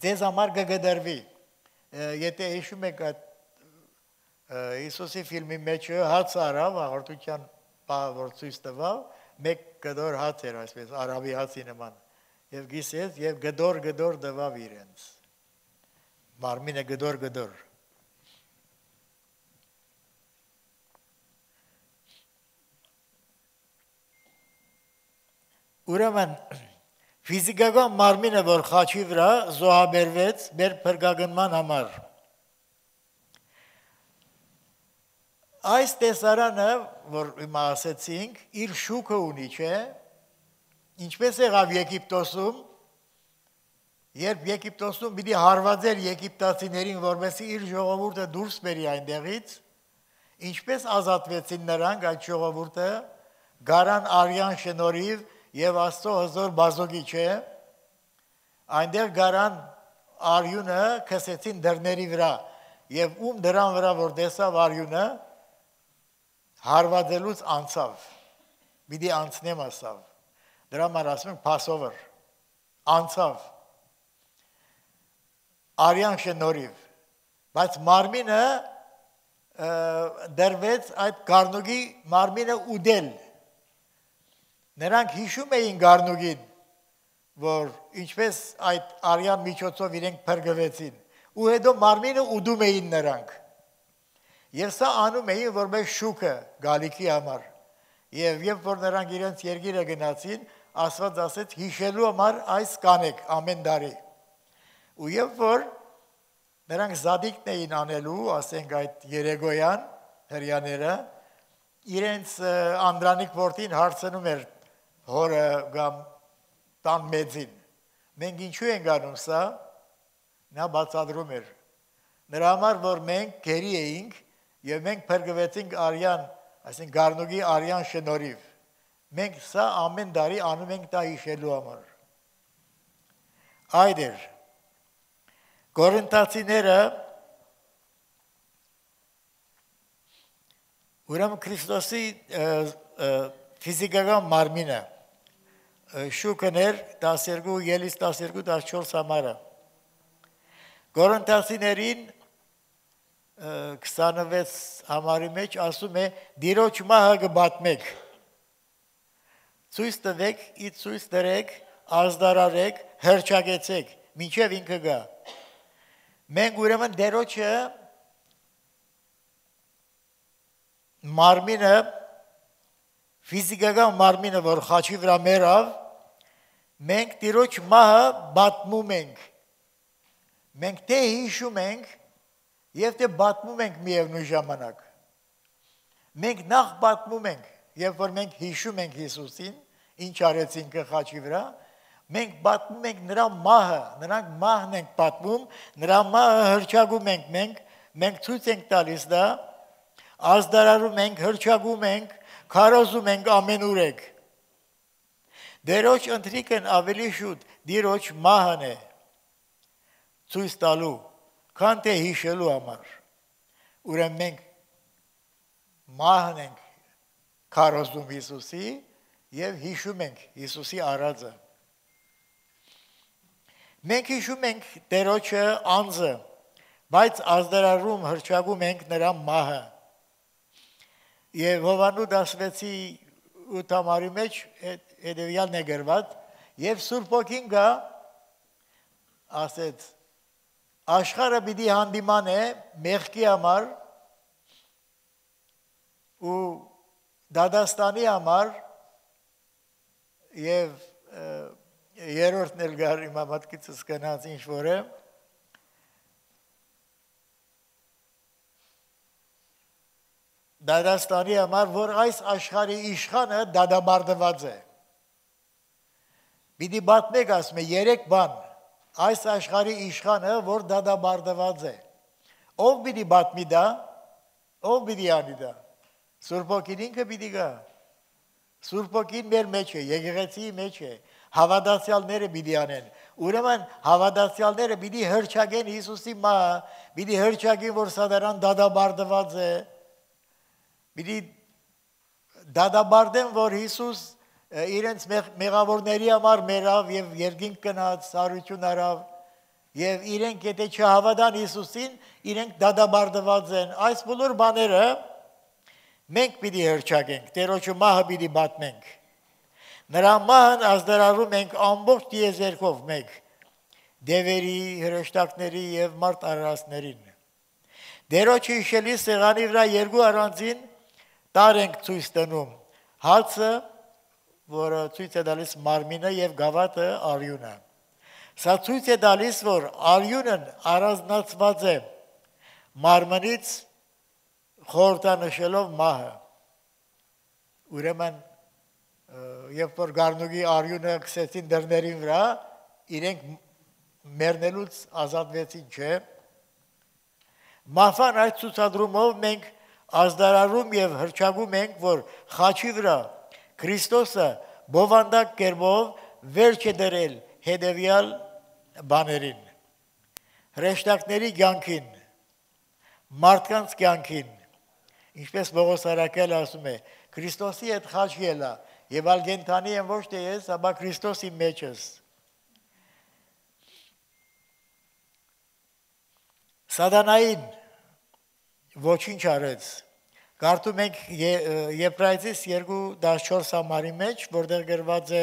ձեզ համար կգդարվի։ Եթե հիշում եք այդ Հիսուսի ֆիլմի մեջ հաց արավ, հաղորդության որ ցույց տվավ, մեկ գդոր հաց էր, այսպես արաբի հացի նման, եւ գիսեց եւ գդոր տվավ իրենց։ Մարմինը գդոր։ Ուրեմն ֆիզիկական մարմինը, որ խաչի վրա զոհաբերվեց մեր փրկագնման համար։ Այս տեսարանը, որ հիմա ասեցինք, իր շուկը ունի, չէ՞։ Ինչպես եղավ Եգիպտոսում, երբ Եգիպտոսում պիտի հարվածեր եգիպտացիներին, որովհետեւ իր ժողովուրդը դուրս բերի այնտեղից, ինչպես ազատվեցին նրանք այդ ժողովուրդը, գարան արյան շնորհիվ եւ Աստծո հզոր բազոգի, չէ՞։ Այնտեղ գարան արյունը քսեցին դռների վրա եւ ում դրան վրա որ տեսավ արյունը հարվածելուց անցավ։ Պիտի անցնեմ ասավ։ Դրա համար ասում ենք Passover։ Անցավ։ Արյան շնորհիվ։ Բայց մարմինը դրվեց այդ գառնուկի մարմինը ուդել։ Նրանք հիշում էին գառնուկին, որ ինչպես այդ արյան միջոցով իրենք փրկվեցին, ու հետո մարմինը ուդում էին նրանք։ Եվ սա անում էին որպես շուկը գալիքի համար։ Եվ երբ որ նրանք իրենց երկիրը գնացին, Աստված ասեց հիշելու համար այս կանեք ամեն տարի։ Ու երբ որ նրանք զադիկն էին անելու, ասենք այդ երեգոյան հրյաները, իրենց Անդրանիկ որդին հարցնում էր հորը կամ տան մեծին, մենք ինչու ենք անում սա, նա բացատրում էր, նրա համար, որ մենք գերի էինք եւ մենք փրկվեցինք արյան, այսինքն գառնուկի արյան շնորհիվ, մենք սա ամեն տարի անում ենք դա հիշելու համար։ Այդ էր, Կորինթացիները ուրեմն Քրիստոսի ֆիզիկական մարմինը շուկն էր 12, ելից 12, 14 համարը։ Կորինթացիներին 26 համարի մեջ ասում է Տիրոջ մահը կբատմեք։ Ցույց տվեք, ցույց դրեք, ազդարարեք, հրճակեցեք, մինչև ինքը գա։ Մենք ուրեմն Տիրոջը մարմինը ֆիզիկական մարմինը, որ խաչի վրա մեռավ, մենք Տիրոջ մահը բատմում ենք։ Մենք թե հիշում ենք եւ թե բատմում ենք միևնույն ժամանակ։ Մենք նախ բատմում ենք, երբ որ մենք հիշում ենք Հիսուսին, ինչ արեցին խաչի վրա, մենք բատմում ենք նրա մահը, նրանք մահն ենք պատմում, նրա մահը հրճագում ենք մենք ցույց ենք տալիս դա, ազդարարում ենք, հրճագում ենք, քարոզում ենք ամենուրեք։ Դերոջ ընթրիկն ավելի շուտ դիրոջ մահն է ցույց տալու, քան թե հիշելու համար։ Ուրեմն մենք մահն ենք քարոզում Հիսուսի եւ հիշում ենք Հիսուսի արածը։ Մենք հիշում ենք Տերոջը անձը, բայց ազդարարում հրճագում ենք նրա մահը։ Եվ Հովանու 16:8 մեջ հետևյալն է գրված. եւ Սուրբ Օքին գա ասեց աշխարհը պիտի հանդիմանե մեղքի համար ու դադաստանի համար եւ երրորդն էլ գար իմ մտքից կնած ինչ որ է դադաստանի համար որ այս աշխարհի իշխանը դադաբարդված է Պիտի պատմեք ասում է երեք բան այս աշխարհի իշխանը որ դադաբարդված է ով պիտի պատմի դա ով պիտի անի դա Սուրբ Օքին ինքը պիտի գա Սուրբ Օքին մեր մեջ է եկեղեցիի մեջ է հավատացյալները պիտի անեն ուրեմն հավատացյալները պիտի հրճագեն Հիսուսի մահը պիտի հրճագեն որ սադարան դադաբարդված է պիտի դադաբարդեն որ Հիսուս իրենց մեղավորների համար մեռավ եւ երկինք գնաց սարություն արավ եւ իրենք եթե չհավատան Հիսուսին իրենք դադաբարդված են այս բոլոր բաները մենք պիտի հրճագենք Տերոջը մահը պիտի պատմենք նրա մահն ազդարարում ենք ամբողջ դիեզերքով մեկ դևերի հրեշտակների եւ մարդ արարածներին Տերոջը հիշելի սեղանի վրա երկու առանձին տար ենք ցույց տնում հացը որը ցույց է տալիս մարմինը եւ գավաթը արյունը։ Սա ցույց է տալիս, որ արյունն առանձնացված է մարմնից խորհրդանշելով մահը։ Ուրեմն երբ որ գառնուկի արյունը քսեցին դռներին վրա, իրենք մեռնելուց ազատվեցին, չէ։ Մահվան այդ ցուցադրումով մենք ազդարարում եւ հրճագում ենք, որ խաչի վրա Քրիստոսը բովանդակ կերպով վերջ է դրել հետևյալ բաներին հրեշտակների կյանքին մարդկանց կյանքին ինչպես Պողոս Արաքելը ասում է Քրիստոսի հետ խաչ ելա եւ ալգենտանի եմ ոչ թե ես ապա Քրիստոսի մեջ ես Սատանային ոչինչ արեց Կարդում ենք Եբրայեցիս 2:14 համարի մեջ, որտեղ գրված է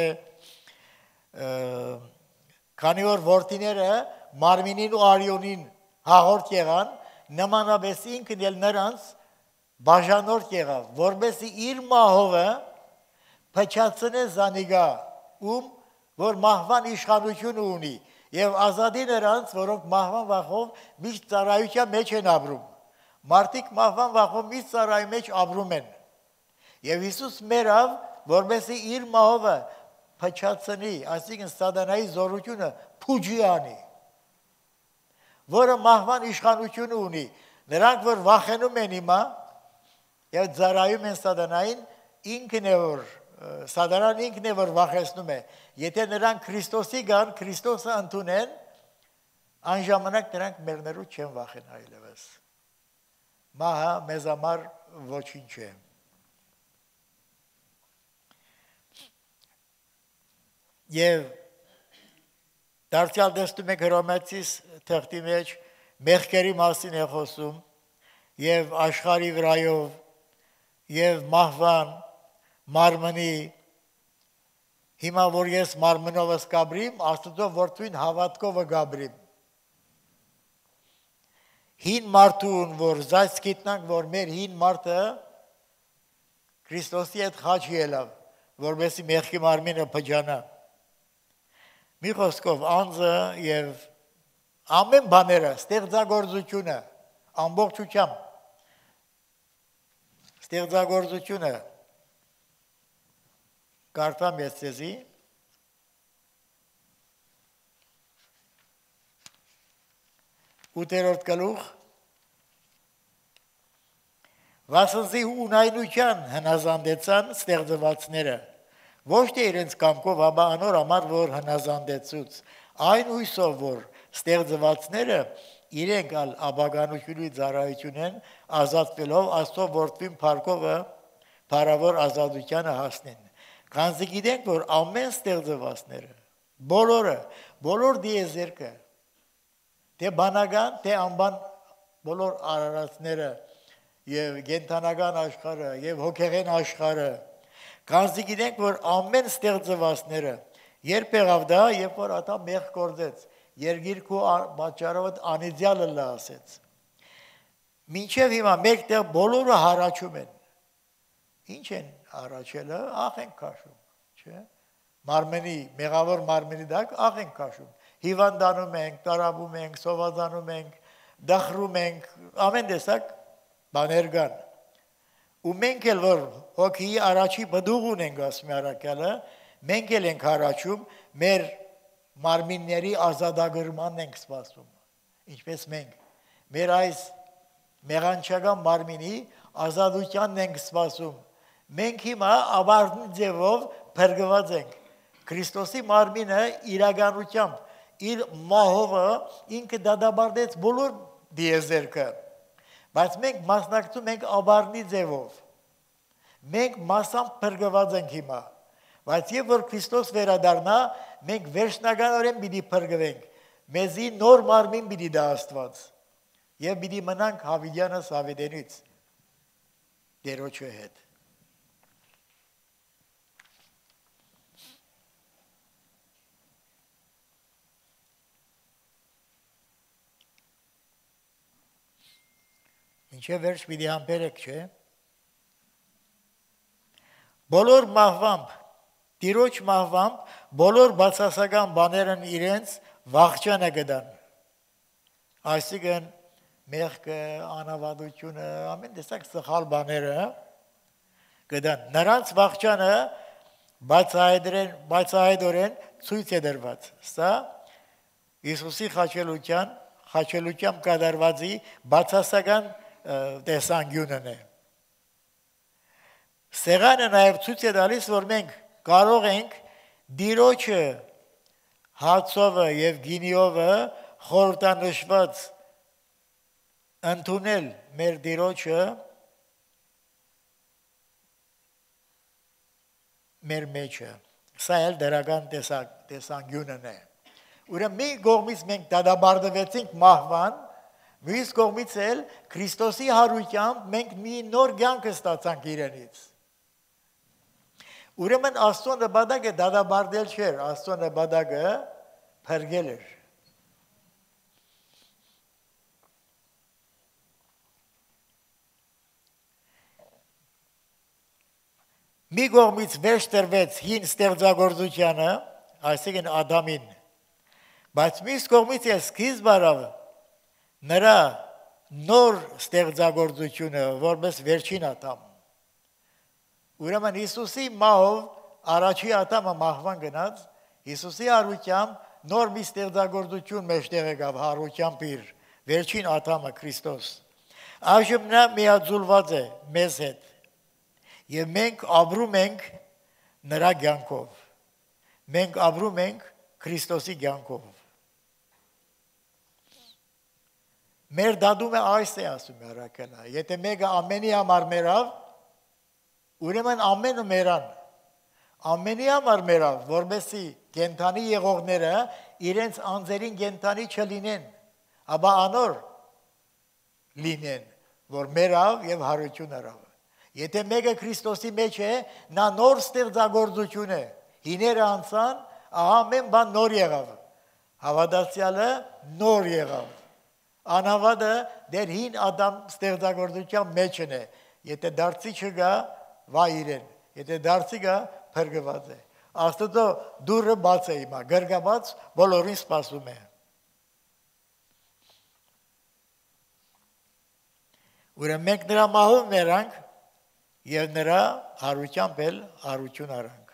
քանի որ որդիները մարմինին ու արյունին հաղորդ եղան, նմանապես ինքն էլ նրանց բաժանորդ եղավ, որպեսզի իր մահովը փչացնե զանիգա, որ մահվան իշխանություն ունի, եւ ազատի նրանց, որոնք մահվան վախով միշտ ծառայության մեջ են ապրում։ Մարդիկ մահվան վախով միշտ ծառայի մեջ ապրում են։ Եվ Հիսուս մեռավ, որպեսզի իր մահովը փչացնի, այսինքն սատանայի զորությունը փուջի անի, որը մահվան իշխանություն ունի։ Նրանք, որ վախենում են հիմա եւ ծառայում են սատանային, ինքն է որ սատանան ինքն է որ վախեցնում է։ Եթե նրանք Քրիստոսի գան, Քրիստոսը ընդունեն, այն ժամանակ նրանք մեռնելու չեն վախենա այլևս։ Մահը մեզ համար ոչինչ է։ Եվ դարձյալ տեսնում եք Հռոմեացիս թղթի մեջ մեղքերի մասին է խոսում եւ աշխարհի վրայով եւ մահվան մարմնի հիմա որ ես մարմնովս կաբրիմ Աստծո որդին հավատքով կաբրիմ հին մարդուն որ զայս գիտնանք որ մեր հին մարդը Քրիստոսի հետ խաչ ելավ որովհետեւ մեղքի մարմինը փճանա մի խոսքով անձը եւ ամեն բաները ստեղծագործությունը ամբողջությամբ ստեղծագործությունը կարդամ ես ցեզի 8-րդ գլուխ Վասնզի ունայնության հնազանդեցան ստեղծվածները Ոչ թե իրենց կամքով, ապա անոր համար որ հնազանդեցուց, այն հույսով որ ստեղծվածները իրենք ալ աբագանությունի ծառայություն են ազատվելով Աստծո որդին փառքովը փառավոր ազատությանը հասնեն։ Քանզի գիտենք որ ամեն ստեղծվածները բոլոր դիեզերքը թե բանական թե անբան բոլոր արարածները եւ գենթանական աշխարհը եւ հոգեղեն աշխարհը քանզի գիտենք որ ամեն ստեղծվածները երբ եղավ դա երբ որ ատա մեղ կորձեց երգիրքու պատճառով անիծյալը լա ասեց մինչև հիմա մեկտեղ բոլորը հարաճում են ինչ են առաջելը աղ են քաշում չէ մարմենի մեղավոր մարմենի դակ աղ են քաշում հիվանդանում ենք տարաբում ենք սովազանում ենք դախրում ենք ամեն տեսակ բաներ կան ու մենք էլ որ հոգի առաջի բդուղ ունենք ասում արակյալը մենք էլ ենք առաջում մեր մարմինների ազատագրմանն ենք սպասում ինչպես մենք մեր այս մեղանչական մարմինի ազատությանն ենք սպասում մենք հիմա ավարտի ձևով փրկված ենք Քրիստոսի մարմինը իրականությամբ իր մահովը ինքը դադարեցրեց բոլոր դիեզերքը բայց մենք մասնակցում ենք ավարտի ձևով մենք մասամբ փրկված ենք հիմա բայց երբ որ Քրիստոս վերադառնա մենք վերջնականորեն պիտի փրկվենք մեզի նոր մարմին պիտի դա Աստված եւ պիտի մնանք Հավիդյանս Հավիդենից Տերոջը հետ Ինչե վերջ պիտի համբերեք, չէ։ Բոլոր մահվամբ, տիրոջ մահվամբ, բոլոր բացասական բաներն իրենց վախճանը գդան։ Այսինքն մեղքը, անավադությունը, ամեն տեսակ սխալ բաները գդան։ Նրանց վախճանը բացահայտորեն ցույց է դրված։ Սա Հիսուսի խաչելությամբ կատարվածի բացասական տեսանկյունն է։ Սեղանը նաև ցույց է տալիս, որ մենք կարող ենք Տիրոջը հացովը եւ գինիովը խորհրդանշված ընդունել մեր Տիրոջը մեր մեջը։ Սա էլ դրական տեսանկյունն է։ Ուրեմն մի կողմից մենք դադարեցինք մահվան, մյուս կողմից էլ Քրիստոսի հարությամբ մենք մի նոր կյանք ստացանք իրենից։ Ուրեմն Աստծո նպատակը դադարել չէր, Աստծո նպատակը փրկել էր։ Մի կողմից վերջ տրվեց հին ստեղծագործությանը, այսինքն Ադամին, բայց մյուս կողմից էլ սկիզբ առավ նրա նոր ստեղծագործությունը, որպես վերջին Ադամ։ Ուրեմն Հիսուսի մահով առաջի Ադամը մահվան գնաց, Հիսուսի հարությամբ նոր մի ստեղծագործություն մեջտեղ եկավ հարությամբ իր վերջին Ադամը Քրիստոս։ Այժմ նա միաձուլված է մեզ հետ։ Եվ մենք ապրում ենք նրա կյանքով։ Մենք ապրում ենք Քրիստոսի կյանքով։ Մեր դատումը այս է ասում Արաքելը։ Եթե մեկը ամենի համար մեռավ, ուրեմն ամենը մեռան։ Ամենի համար մեռավ, որովհետեւ կենթանի եղողները իրենց անձերին կենթանի չլինեն, ապա անոր լինեն, որ մեռավ եւ հարություն արավ։ Եթե մեկը Քրիստոսի մեջ է, նա նոր ստեղծագործություն է։ Հիները անցան, ահա ամեն բան նոր եղավ։ Հավատացյալը նոր եղավ։ Անհավատը դեր հին Ադամ ստեղծագործության մեջն է։ Եթե դարձի չգա, վայ իրեն։ Եթե դարձի գա, փրկված է։ Աստծո դուրը բաց է հիմա, գրգաբաց բոլորին սպասում է։ Ուրեմն մենք նրա մահով մեռանք եւ նրա հարությամբ էլ հարություն արանք։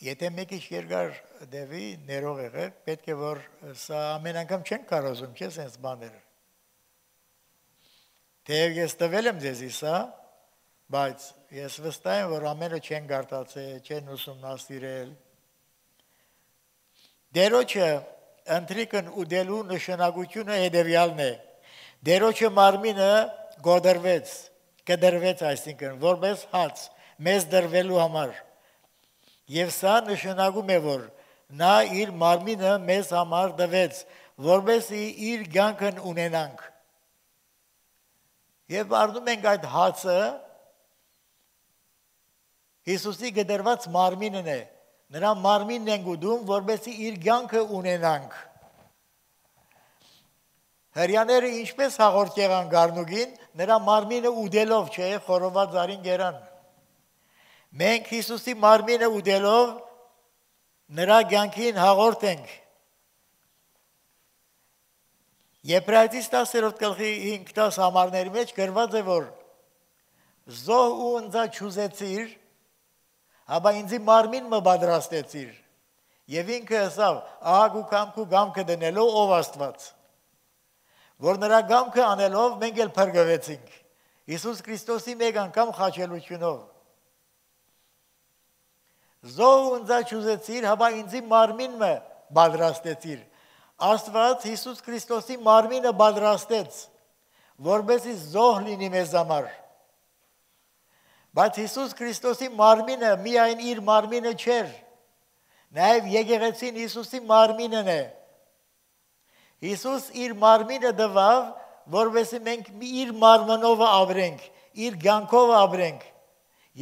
Եթե մեկի երկար դեպի ներող եղեք, պետք է որ սա ամեն անգամ չեն կարողում, չէ՞ sense բաներ։ Թեև ես տվել եմ ձեզի սա, բայց ես վստահ եմ, որ ամենը չեն գարտացել, չեն ուսումնասիրել։ Դերոջը ընտրիկն ուդելու նշանակությունը հետևյալն է։ Դերոջը մարմինը գոդրվեց, կդրվեց, այսինքն որպես հաց, մեզ դրվելու համար։ Եվ սա նշանակում է, որ նա իր մարմինը մեզ համար դվեց, որպեսզի իր կյանքն ունենանք։ Եվ առնում ենք այդ հացը Հիսուսի գդրված մարմինն է։ Նրա մարմինն ենք ուտում, որպեսզի իր կյանքը ունենանք։ Հրյաները ինչպես հաղորդ եղան գառնուկին, նրա մարմինը ուտելով, չէ, խորոված զարին գերան։ Մենք Հիսուսի մարմինը ուտելով նրա կյանքին հաղորդ ենք։ Եբրայեցիս 10-րդ գլխի 5-10 համարների մեջ գրված է, որ զոհ ու ընձա չուզեցիր, հաբա ինձի մարմին մը պատրաստեցիր։ Եվ ինքը ասավ, ահագ ու կամքու գամքը դնելով ով Աստված։ Որ նրա գամքը անելով մենք էլ փրկվեցինք։ Հիսուս Քրիստոսի մեկ անգամ խաչելությունով։ Զոհ ու ընձա չուզեցիր, հաբա ինձի մարմին մը պատրաստեցիր։ Աստված Հիսուս Քրիստոսի մարմինը պատրաստեց, որպեսզի զոհ լինի մեզ համար։ Բայց Հիսուս Քրիստոսի մարմինը միայն իր մարմինը չէր, նաև եկեղեցին Հիսուսի մարմինն է։ Հիսուս իր մարմինը տվավ, որպեսզի մենք իր մարմնով ապրենք, իր կյանքով ապրենք։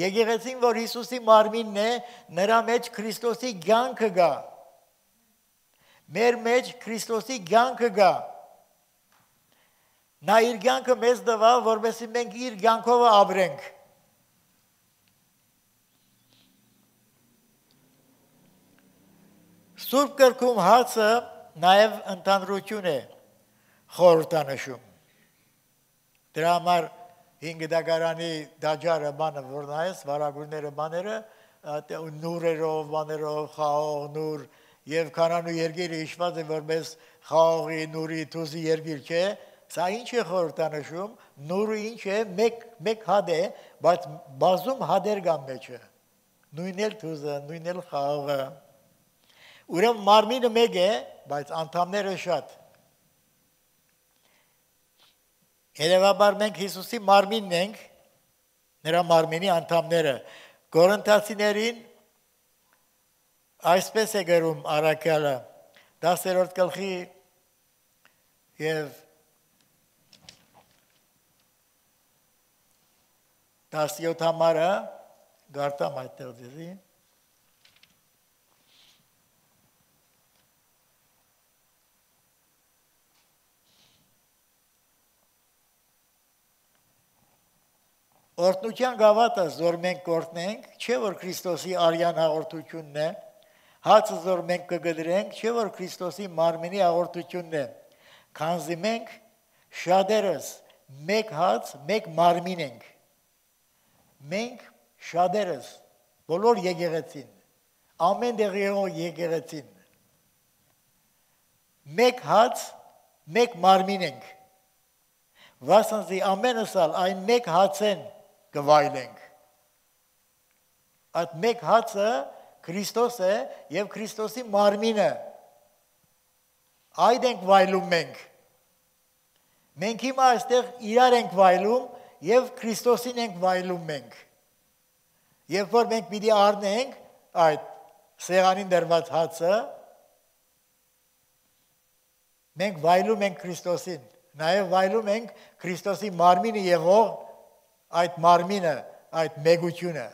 Եկեղեցին, որ Հիսուսի մարմինն է, նրա մեջ Քրիստոսի կյանքը կա։ Մեր մեջ Քրիստոսի կյանքը կա։ Նա իր կյանքը մեզ տվավ, որպեսզի մենք իր կյանքով ապրենք։ Սուրբ գրքում հացը նաև ընդհանրություն է խորհրդանշում։ Դրա համար 5 դագարանի դաջարը բանը որ նայես, վարագույրները բաները, նուրերով, բաներով, խաղող, նուր, և կանանու երգիրը իշված է որպես խաղողի, նուրի, թուզի երգիր չէ, սա ինչ է խորհրդանշում, նուրը ինչ է, մեկ հադ է, բայց բազում հադեր կան մեջը, նույն էլ թուզը, նույն էլ խաղողը, ուրեմն մարմինը մեկ է, բայց անդամները շատ։ Հետևաբար մենք Հիսուսի մարմինն ենք, նրա մարմինի անդամները։ Կորինթացիներին այսպես է գրում առաքյալը 10-րդ գլխի և 17 համարը գարտամ այդտեղ ձեզի։ Օրհնության գավաթը զոր մենք կորտնենք, չէ որ Քրիստոսի արյան հաղորդությունն է, հացը զոր մենք կգդրենք, չէ որ Քրիստոսի մարմինի հաղորդությունն է, քանզի մենք շատերս մեկ հաց, մեկ մարմին ենք։ Մենք շատերս, բոլոր եկեղեցին, ամեն տեղ եղող եկեղեցին, մեկ հաց, մեկ մարմին ենք։ Վասնզի ամենս ալ այն մեկ հացեն գվայլենք։ Այդ մեկ հացը Քրիստոս է և Քրիստոսի մարմինը։ Այդ ենք վայլում մենք։ Մենք հիմա այստեղ իրար ենք վայլում և Քրիստոսին ենք վայլում մենք։ Երբ որ մենք պիտի առնենք այդ սեղանին դրված հացը, մենք վայլում ենք Քրիստոսին, նաև վայլում ենք Քրիստոսի մարմինը եղող այդ մարմինը, այդ մեգությունը։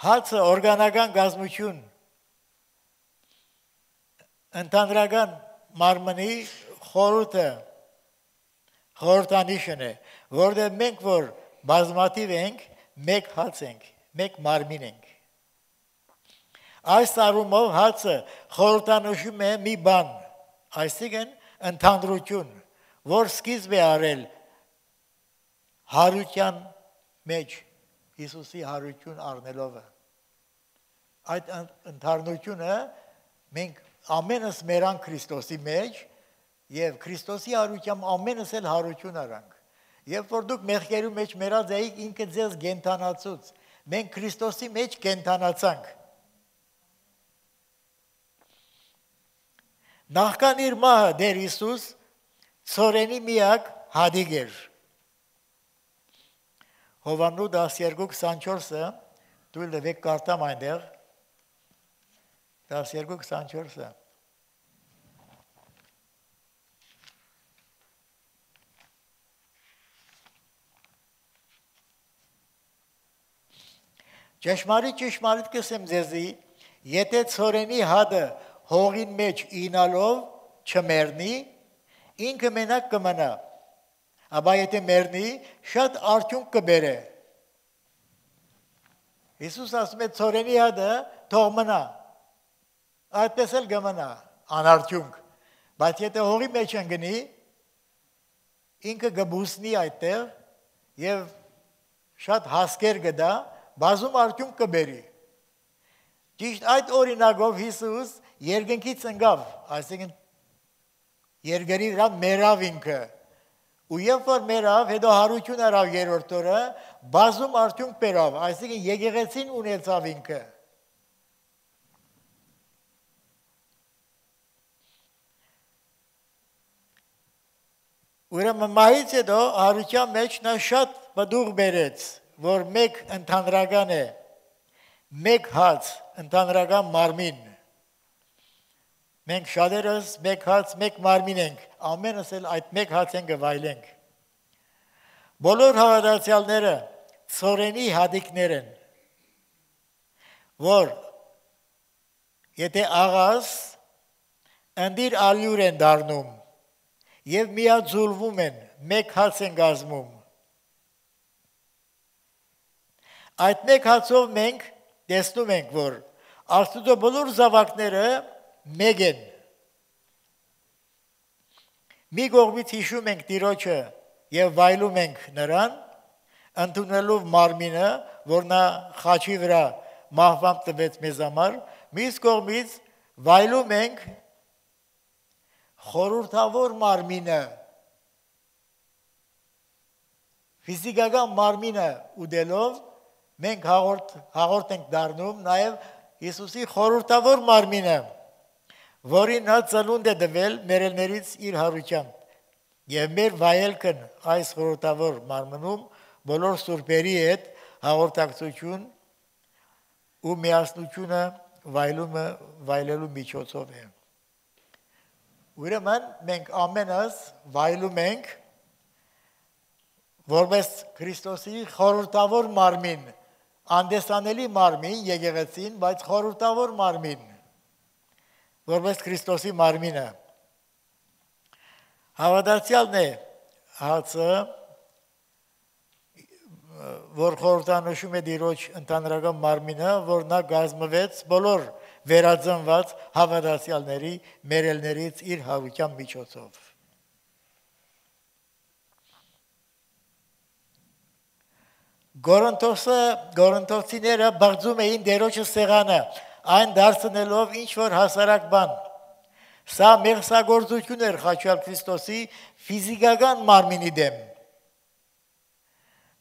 Հացը օրգանական գազմություն, ընդհանրական մարմնի խորհուրդը, խորհրդանիշն է, որտեղ մենք որ բազմաթիվ ենք, մեկ հաց ենք, մեկ մարմին ենք։ Այս առումով հացը խորհրդանշում է մի բան, այսինքն ընդհանրություն, որ սկիզբ է արել հարության մեջ Հիսուսի հարություն առնելով է։ Այդ ընդառնությունը մենք ամենս մերան Քրիստոսի մեջ եւ Քրիստոսի հարությամբ ամենս էլ հարություն արանք։ Երբ որ դուք մեղքերի մեջ մերած էիք, ինքը ձեզ կենթանացուց։ Մենք Քրիստոսի մեջ կենթանացանք։ Նախքան իր մահը դեր Հիսուս ծորենի միակ հադիգ էր։ Հովաննու 12:24-ը դուք լվեք կարտամ այնտեղ 12:24-ը Ճշմարիտ կսեմ ձեզի, եթե ծորենի հադը հողին մեջ ինալով չմեռնի, ինքը մենակ կմնա, ապա եթե մեռնի, շատ արդյունք կբերե։ Հիսուս ասում է ծորենի հադը թող մնա, այդպես էլ կմնա, անարդյունք, բայց եթե հողի մեջ ընկնի, ինքը կբուսնի այդտեղ և շատ հասկեր կդա, բազում արդյունք կբերի։ Ճիշտ այդ օրինակով Հիսուս երկնքից ընկավ, այսինքն երկրի վրա մեռավ ինքը։ Ու երբ որ մեռավ, հետո հարություն արավ երրորդ օրը, բազում արդյունք բերավ, այսինքն եկեղեցին ունեցավ ինքը։ Ուրեմն մահից հետո հարության մեջ նա շատ բդուղ բերեց, որ մեկ ընդհանրական է, մեկ հաց, ընդհանրական մարմին։ Մենք շատերս մեկ հաց, մեկ մարմին ենք, ամենս էլ այդ մեկ հաց են գվայլենք։ Բոլոր հավատացյալները ծորենի հադիկներ են, որ եթե աղաս ընդիր ալյուր են դառնում և միաձուլվում են, մեկ հաց են կազմում։ Այդ մեկ հացով մենք տեսնում ենք, որ Աստծո բոլոր զավակները մեկ են։ Մի կողմից հիշում ենք Տիրոջը և վայելում ենք նրան, ընդունելով մարմինը, որ նա խաչի վրա մահվան տվեց մեզ համար, մյուս կողմից վայելում ենք խորհրդավոր մարմինը, ֆիզիկական մարմինը ուտելով մենք հաղորդ ենք դառնում նաև Հիսուսի խորհրդավոր մարմինը, որին նա ծնունդ է տվել մերելներից իր հարությամբ և մեր վայելքն այս խորհրդավոր մարմնում բոլոր սուրբերի հետ հաղորդակցություն ու միասնությունը վայելելու միջոցով է։ Ուրեմն մենք ամենս վայելում ենք որպես Քրիստոսի խորհրդավոր մարմին, անդեսանելի մարմին եկեղեցին, բայց խորհրդավոր մարմին, որպես Քրիստոսի մարմինը։ Հավատացյալն է հացը, որ խորհրդանշում է Տիրոջ ընդհանրական մարմինը, որ նա կազմվեց բոլոր վերածնված հավատացյալների մերելներից իր հարության միջոցով։ Գորընթոսիները բաղձում էին Տերոջը սեղանը, այն դարձնելով ինչ-որ հասարակ բան։ Սա մեղսագործություն էր խաչյալ Քրիստոսի ֆիզիկական մարմինի դեմ։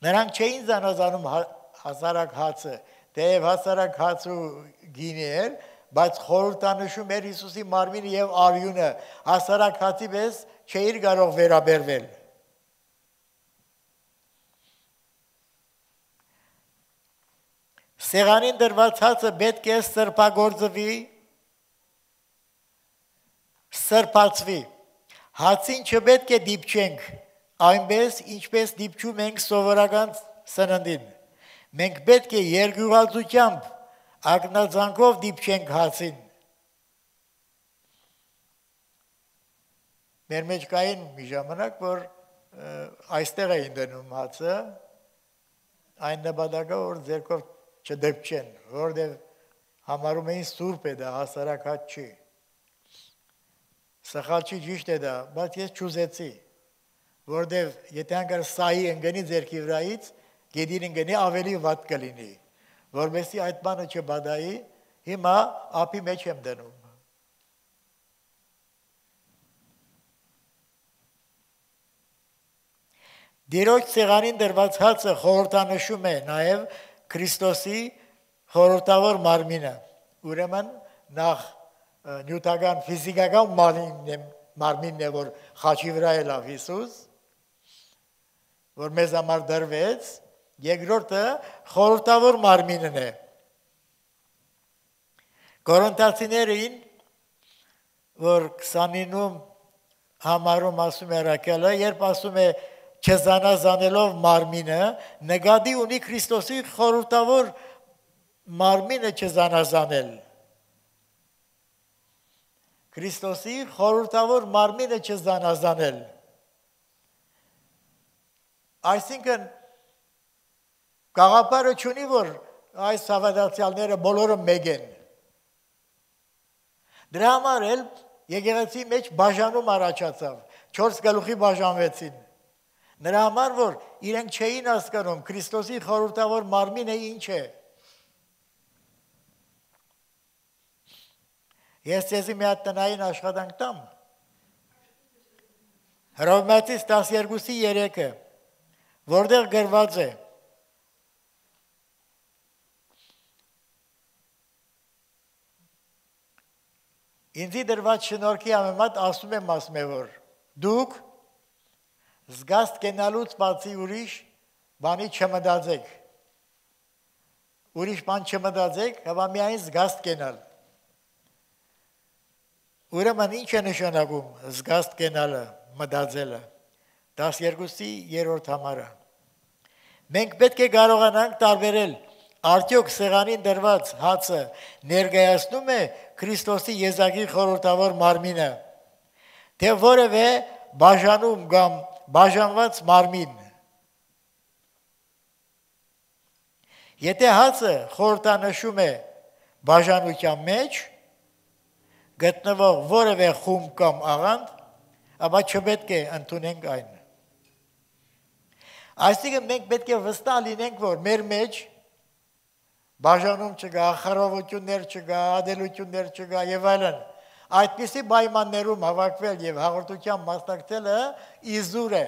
Նրանք չէին զանազանում հասարակ հացը, թեև հասարակ հաց ու գինի էր, բայց խորհրդանշում էր Հիսուսի մարմինը և արյունը, հասարակ հացի պես չէիր կարող վերաբերվել։ Սեղանին դրված հացը պետք է սրբացվի, հացին չպետք է դիպչենք, այնպես ինչպես դիպչում ենք սովորական սննդին, մենք պետք է երկյուղածությամբ, ակնածանքով դիպչենք հացին։ Մեր մեջ կային մի ժամանակ, որ այստեղ էին դնում հացը, այն նպատակը, որ ձեռքով չդպչեն, որտեղ համարում էին սուրբ է դա, հասարակ հաց չի։ Սխալ չի, ճիշտ է դա, բայց ես չուզեցի։ որտեվ եթե անգամ սայի ընկնի ձերքի վրայից, գետին ընկնի ավելի վատ կլինի, որովհետեւ այդ բանը չբադայի, հիմա ափի մեջ եմ դնում։ Դիրոջ ցեղանին դրված հացը խորհրդանշում է նաև Քրիստոսի խորհրդավոր մարմինը։ Ուրեմն նախ նյութական ֆիզիկական մարմինն է, որ խաչի վրա է լավ Հիսուս, որ մեզ համար դրվեց, երկրորդը խորհրդավոր մարմինն է։ Կորինթացիներին, որ 29-ում համարում ասում է Ռակելը, երբ ասում է չզանազանելով մարմինը, նկատի ունի Քրիստոսի խորհրդավոր մարմինը չզանազանել։ Քրիստոսի խորհրդավոր մարմինը չզանազանել։ Այսինքն գաղափարը չունի, որ այս հավատացյալները բոլորը մեկ են։ Դրա համար էլ եկեղեցի մեջ բաժանում առաջացավ, 4 գլուխի բաժանվեցին։ Նրա համար, որ իրենք չէին հասկանում Քրիստոսի խորհրդավոր մարմինը ինչ է։ Ես ձեզի մի հատ տնային աշխատանք տամ։ Հռոմեացիս 12:3-ը, որտեղ գրված է. Ինձի դրված շնորհքի համեմատ ասում եմ, որ դուք զգաստ կենալուց բացի ուրիշ բանի չմտածեք։ Ուրիշ բան չմտածեք, հապա միայն զգաստ կենալ։ Ուրեմն ինչ է նշանակում զգաստ կենալը, մտածելը։ 12-րդ համարը։ Մենք պետք է կարողանանք տարբերել արդյոք սեղանին դրված հացը ներկայացնում է Քրիստոսի եզակի խորհրդավոր մարմինը, թե որևէ բաժանում կամ բաժանված մարմին։ Եթե հացը խորհրդանշում է բաժանության մեջ գտնվող որևէ խումբ կամ աղանդ, ապա չպետք է ընդունենք այն։ Այսինքն մենք պետք է վստահ լինենք, որ մեր մեջ բաժանում չկա, խռովություններ չկա, ադելություններ չկա եւ այլն։ Այդպիսի պայմաններում հավաքվել եւ հաղորդության մասնակցելը իզուր է։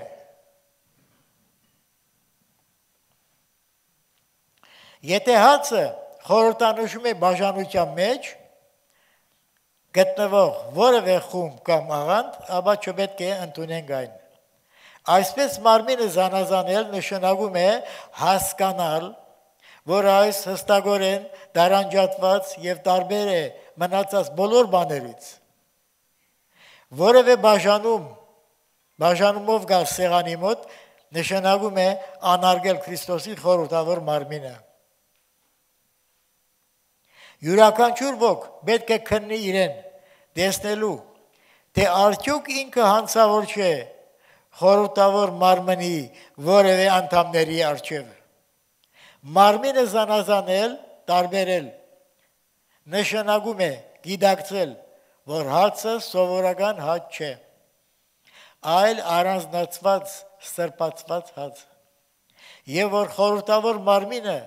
Եթե հացը խորհրդանշում է բաժանության մեջ գտնվող որևէ խումբ կամ աղանդ, ապա չպետք է ընդունենք այն։ Այսպես մարմինը զանազանել նշանակում է հասկանալ, որ այս հստակորեն դարանջատված եւ տարբեր է մնացած բոլոր բաներից։ Որևէ բաժանումով գալ սեղանի մոտ նշանակում է անարգել Քրիստոսի խորհրդավոր մարմինը։ Յուրաքանչյուր ոք պետք է քննի իրեն, տեսնելու, թե արդյոք ինքը հանցավոր չէ խորհրդավոր մարմնի որևէ անդամների առջև։ Մարմինը զանազանել, տարբերել, նշանակում է գիտակցել, որ հացը սովորական հաց չէ, այլ առանձնացված, սրբացված հաց, եւ որ խորհրդավոր մարմինը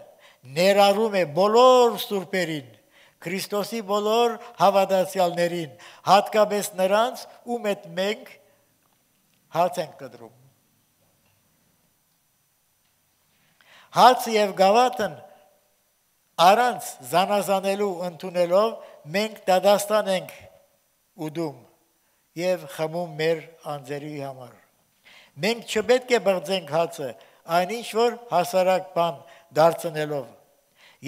ներառում է բոլոր սուրբերին, Քրիստոսի բոլոր հավատացյալներին, հատկապես նրանց, ում հետ մենք հաց ենք կտրում։ Հաց եւ գավաթն առանց զանազանելու ընդունելով մենք դադաստան ենք ուդում եւ խմում մեր անձերի համար։ Մենք չպետք է բղձենք հացը այնինչ որ հասարակ բան դարձնելով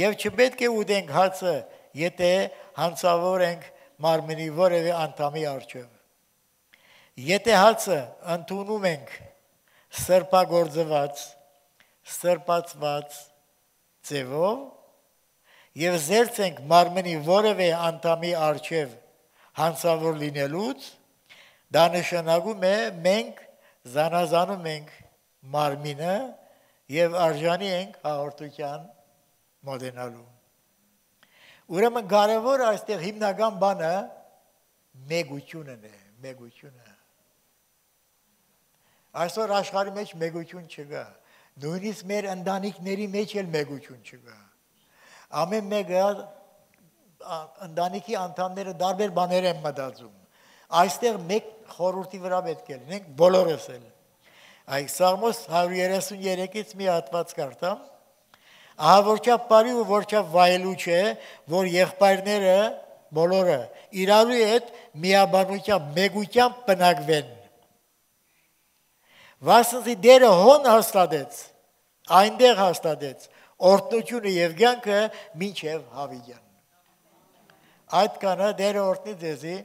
եւ չպետք է ուտենք հացը, եթե հանցավոր ենք մարմնի որևէ անդամի առջև։ Եթե հացը ընդունում ենք սրբագործված, սրբացված ձևով եւ զերծ ենք մարմնի որևէ անդամի առջև հանցավոր լինելուց, դա նշանակում է մենք զանազանում ենք մարմինը եւ արժանի ենք հաղորդության մոտենալու։ Ուրեմն կարևոր այստեղ հիմնական բանը մեգությունն է, մեգությունը։ Այսօր աշխարհի մեջ մեգություն չկա։ Նույնիսկ մեր ընտանիքների մեջ էլ մեգություն չկա։ Ամեն մեկը ընտանիքի անդամները տարբեր բաներ են մտածում։ Այստեղ մեկ խորհրդի վրա պետք է լինենք բոլորս էլ։ Այս Սաղմոս 133-ից մի հատված կարդամ։ Ահա որչափ բարի ու որչափ վայելու չէ, որ եղբայրները բոլորը իրարու հետ միաբանությամբ, մեգությամբ բնակվեն։ Վասնզի դերը հոն հաստատեց, այնտեղ հաստատեց օրհնությունը եւ կյանքը մինչեւ հավիտյան։ Այդ կանը դերը օրհնի ձեզի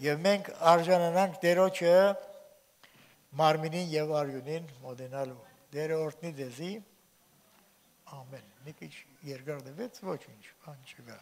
եւ մենք արժանանանք դերոջը մարմինին եւ արյունին մոտենալու։ Դերը օրհնի ձեզի։ Ամեն։ Մի քիչ երկար դեպեց, ոչինչ, բան չկա։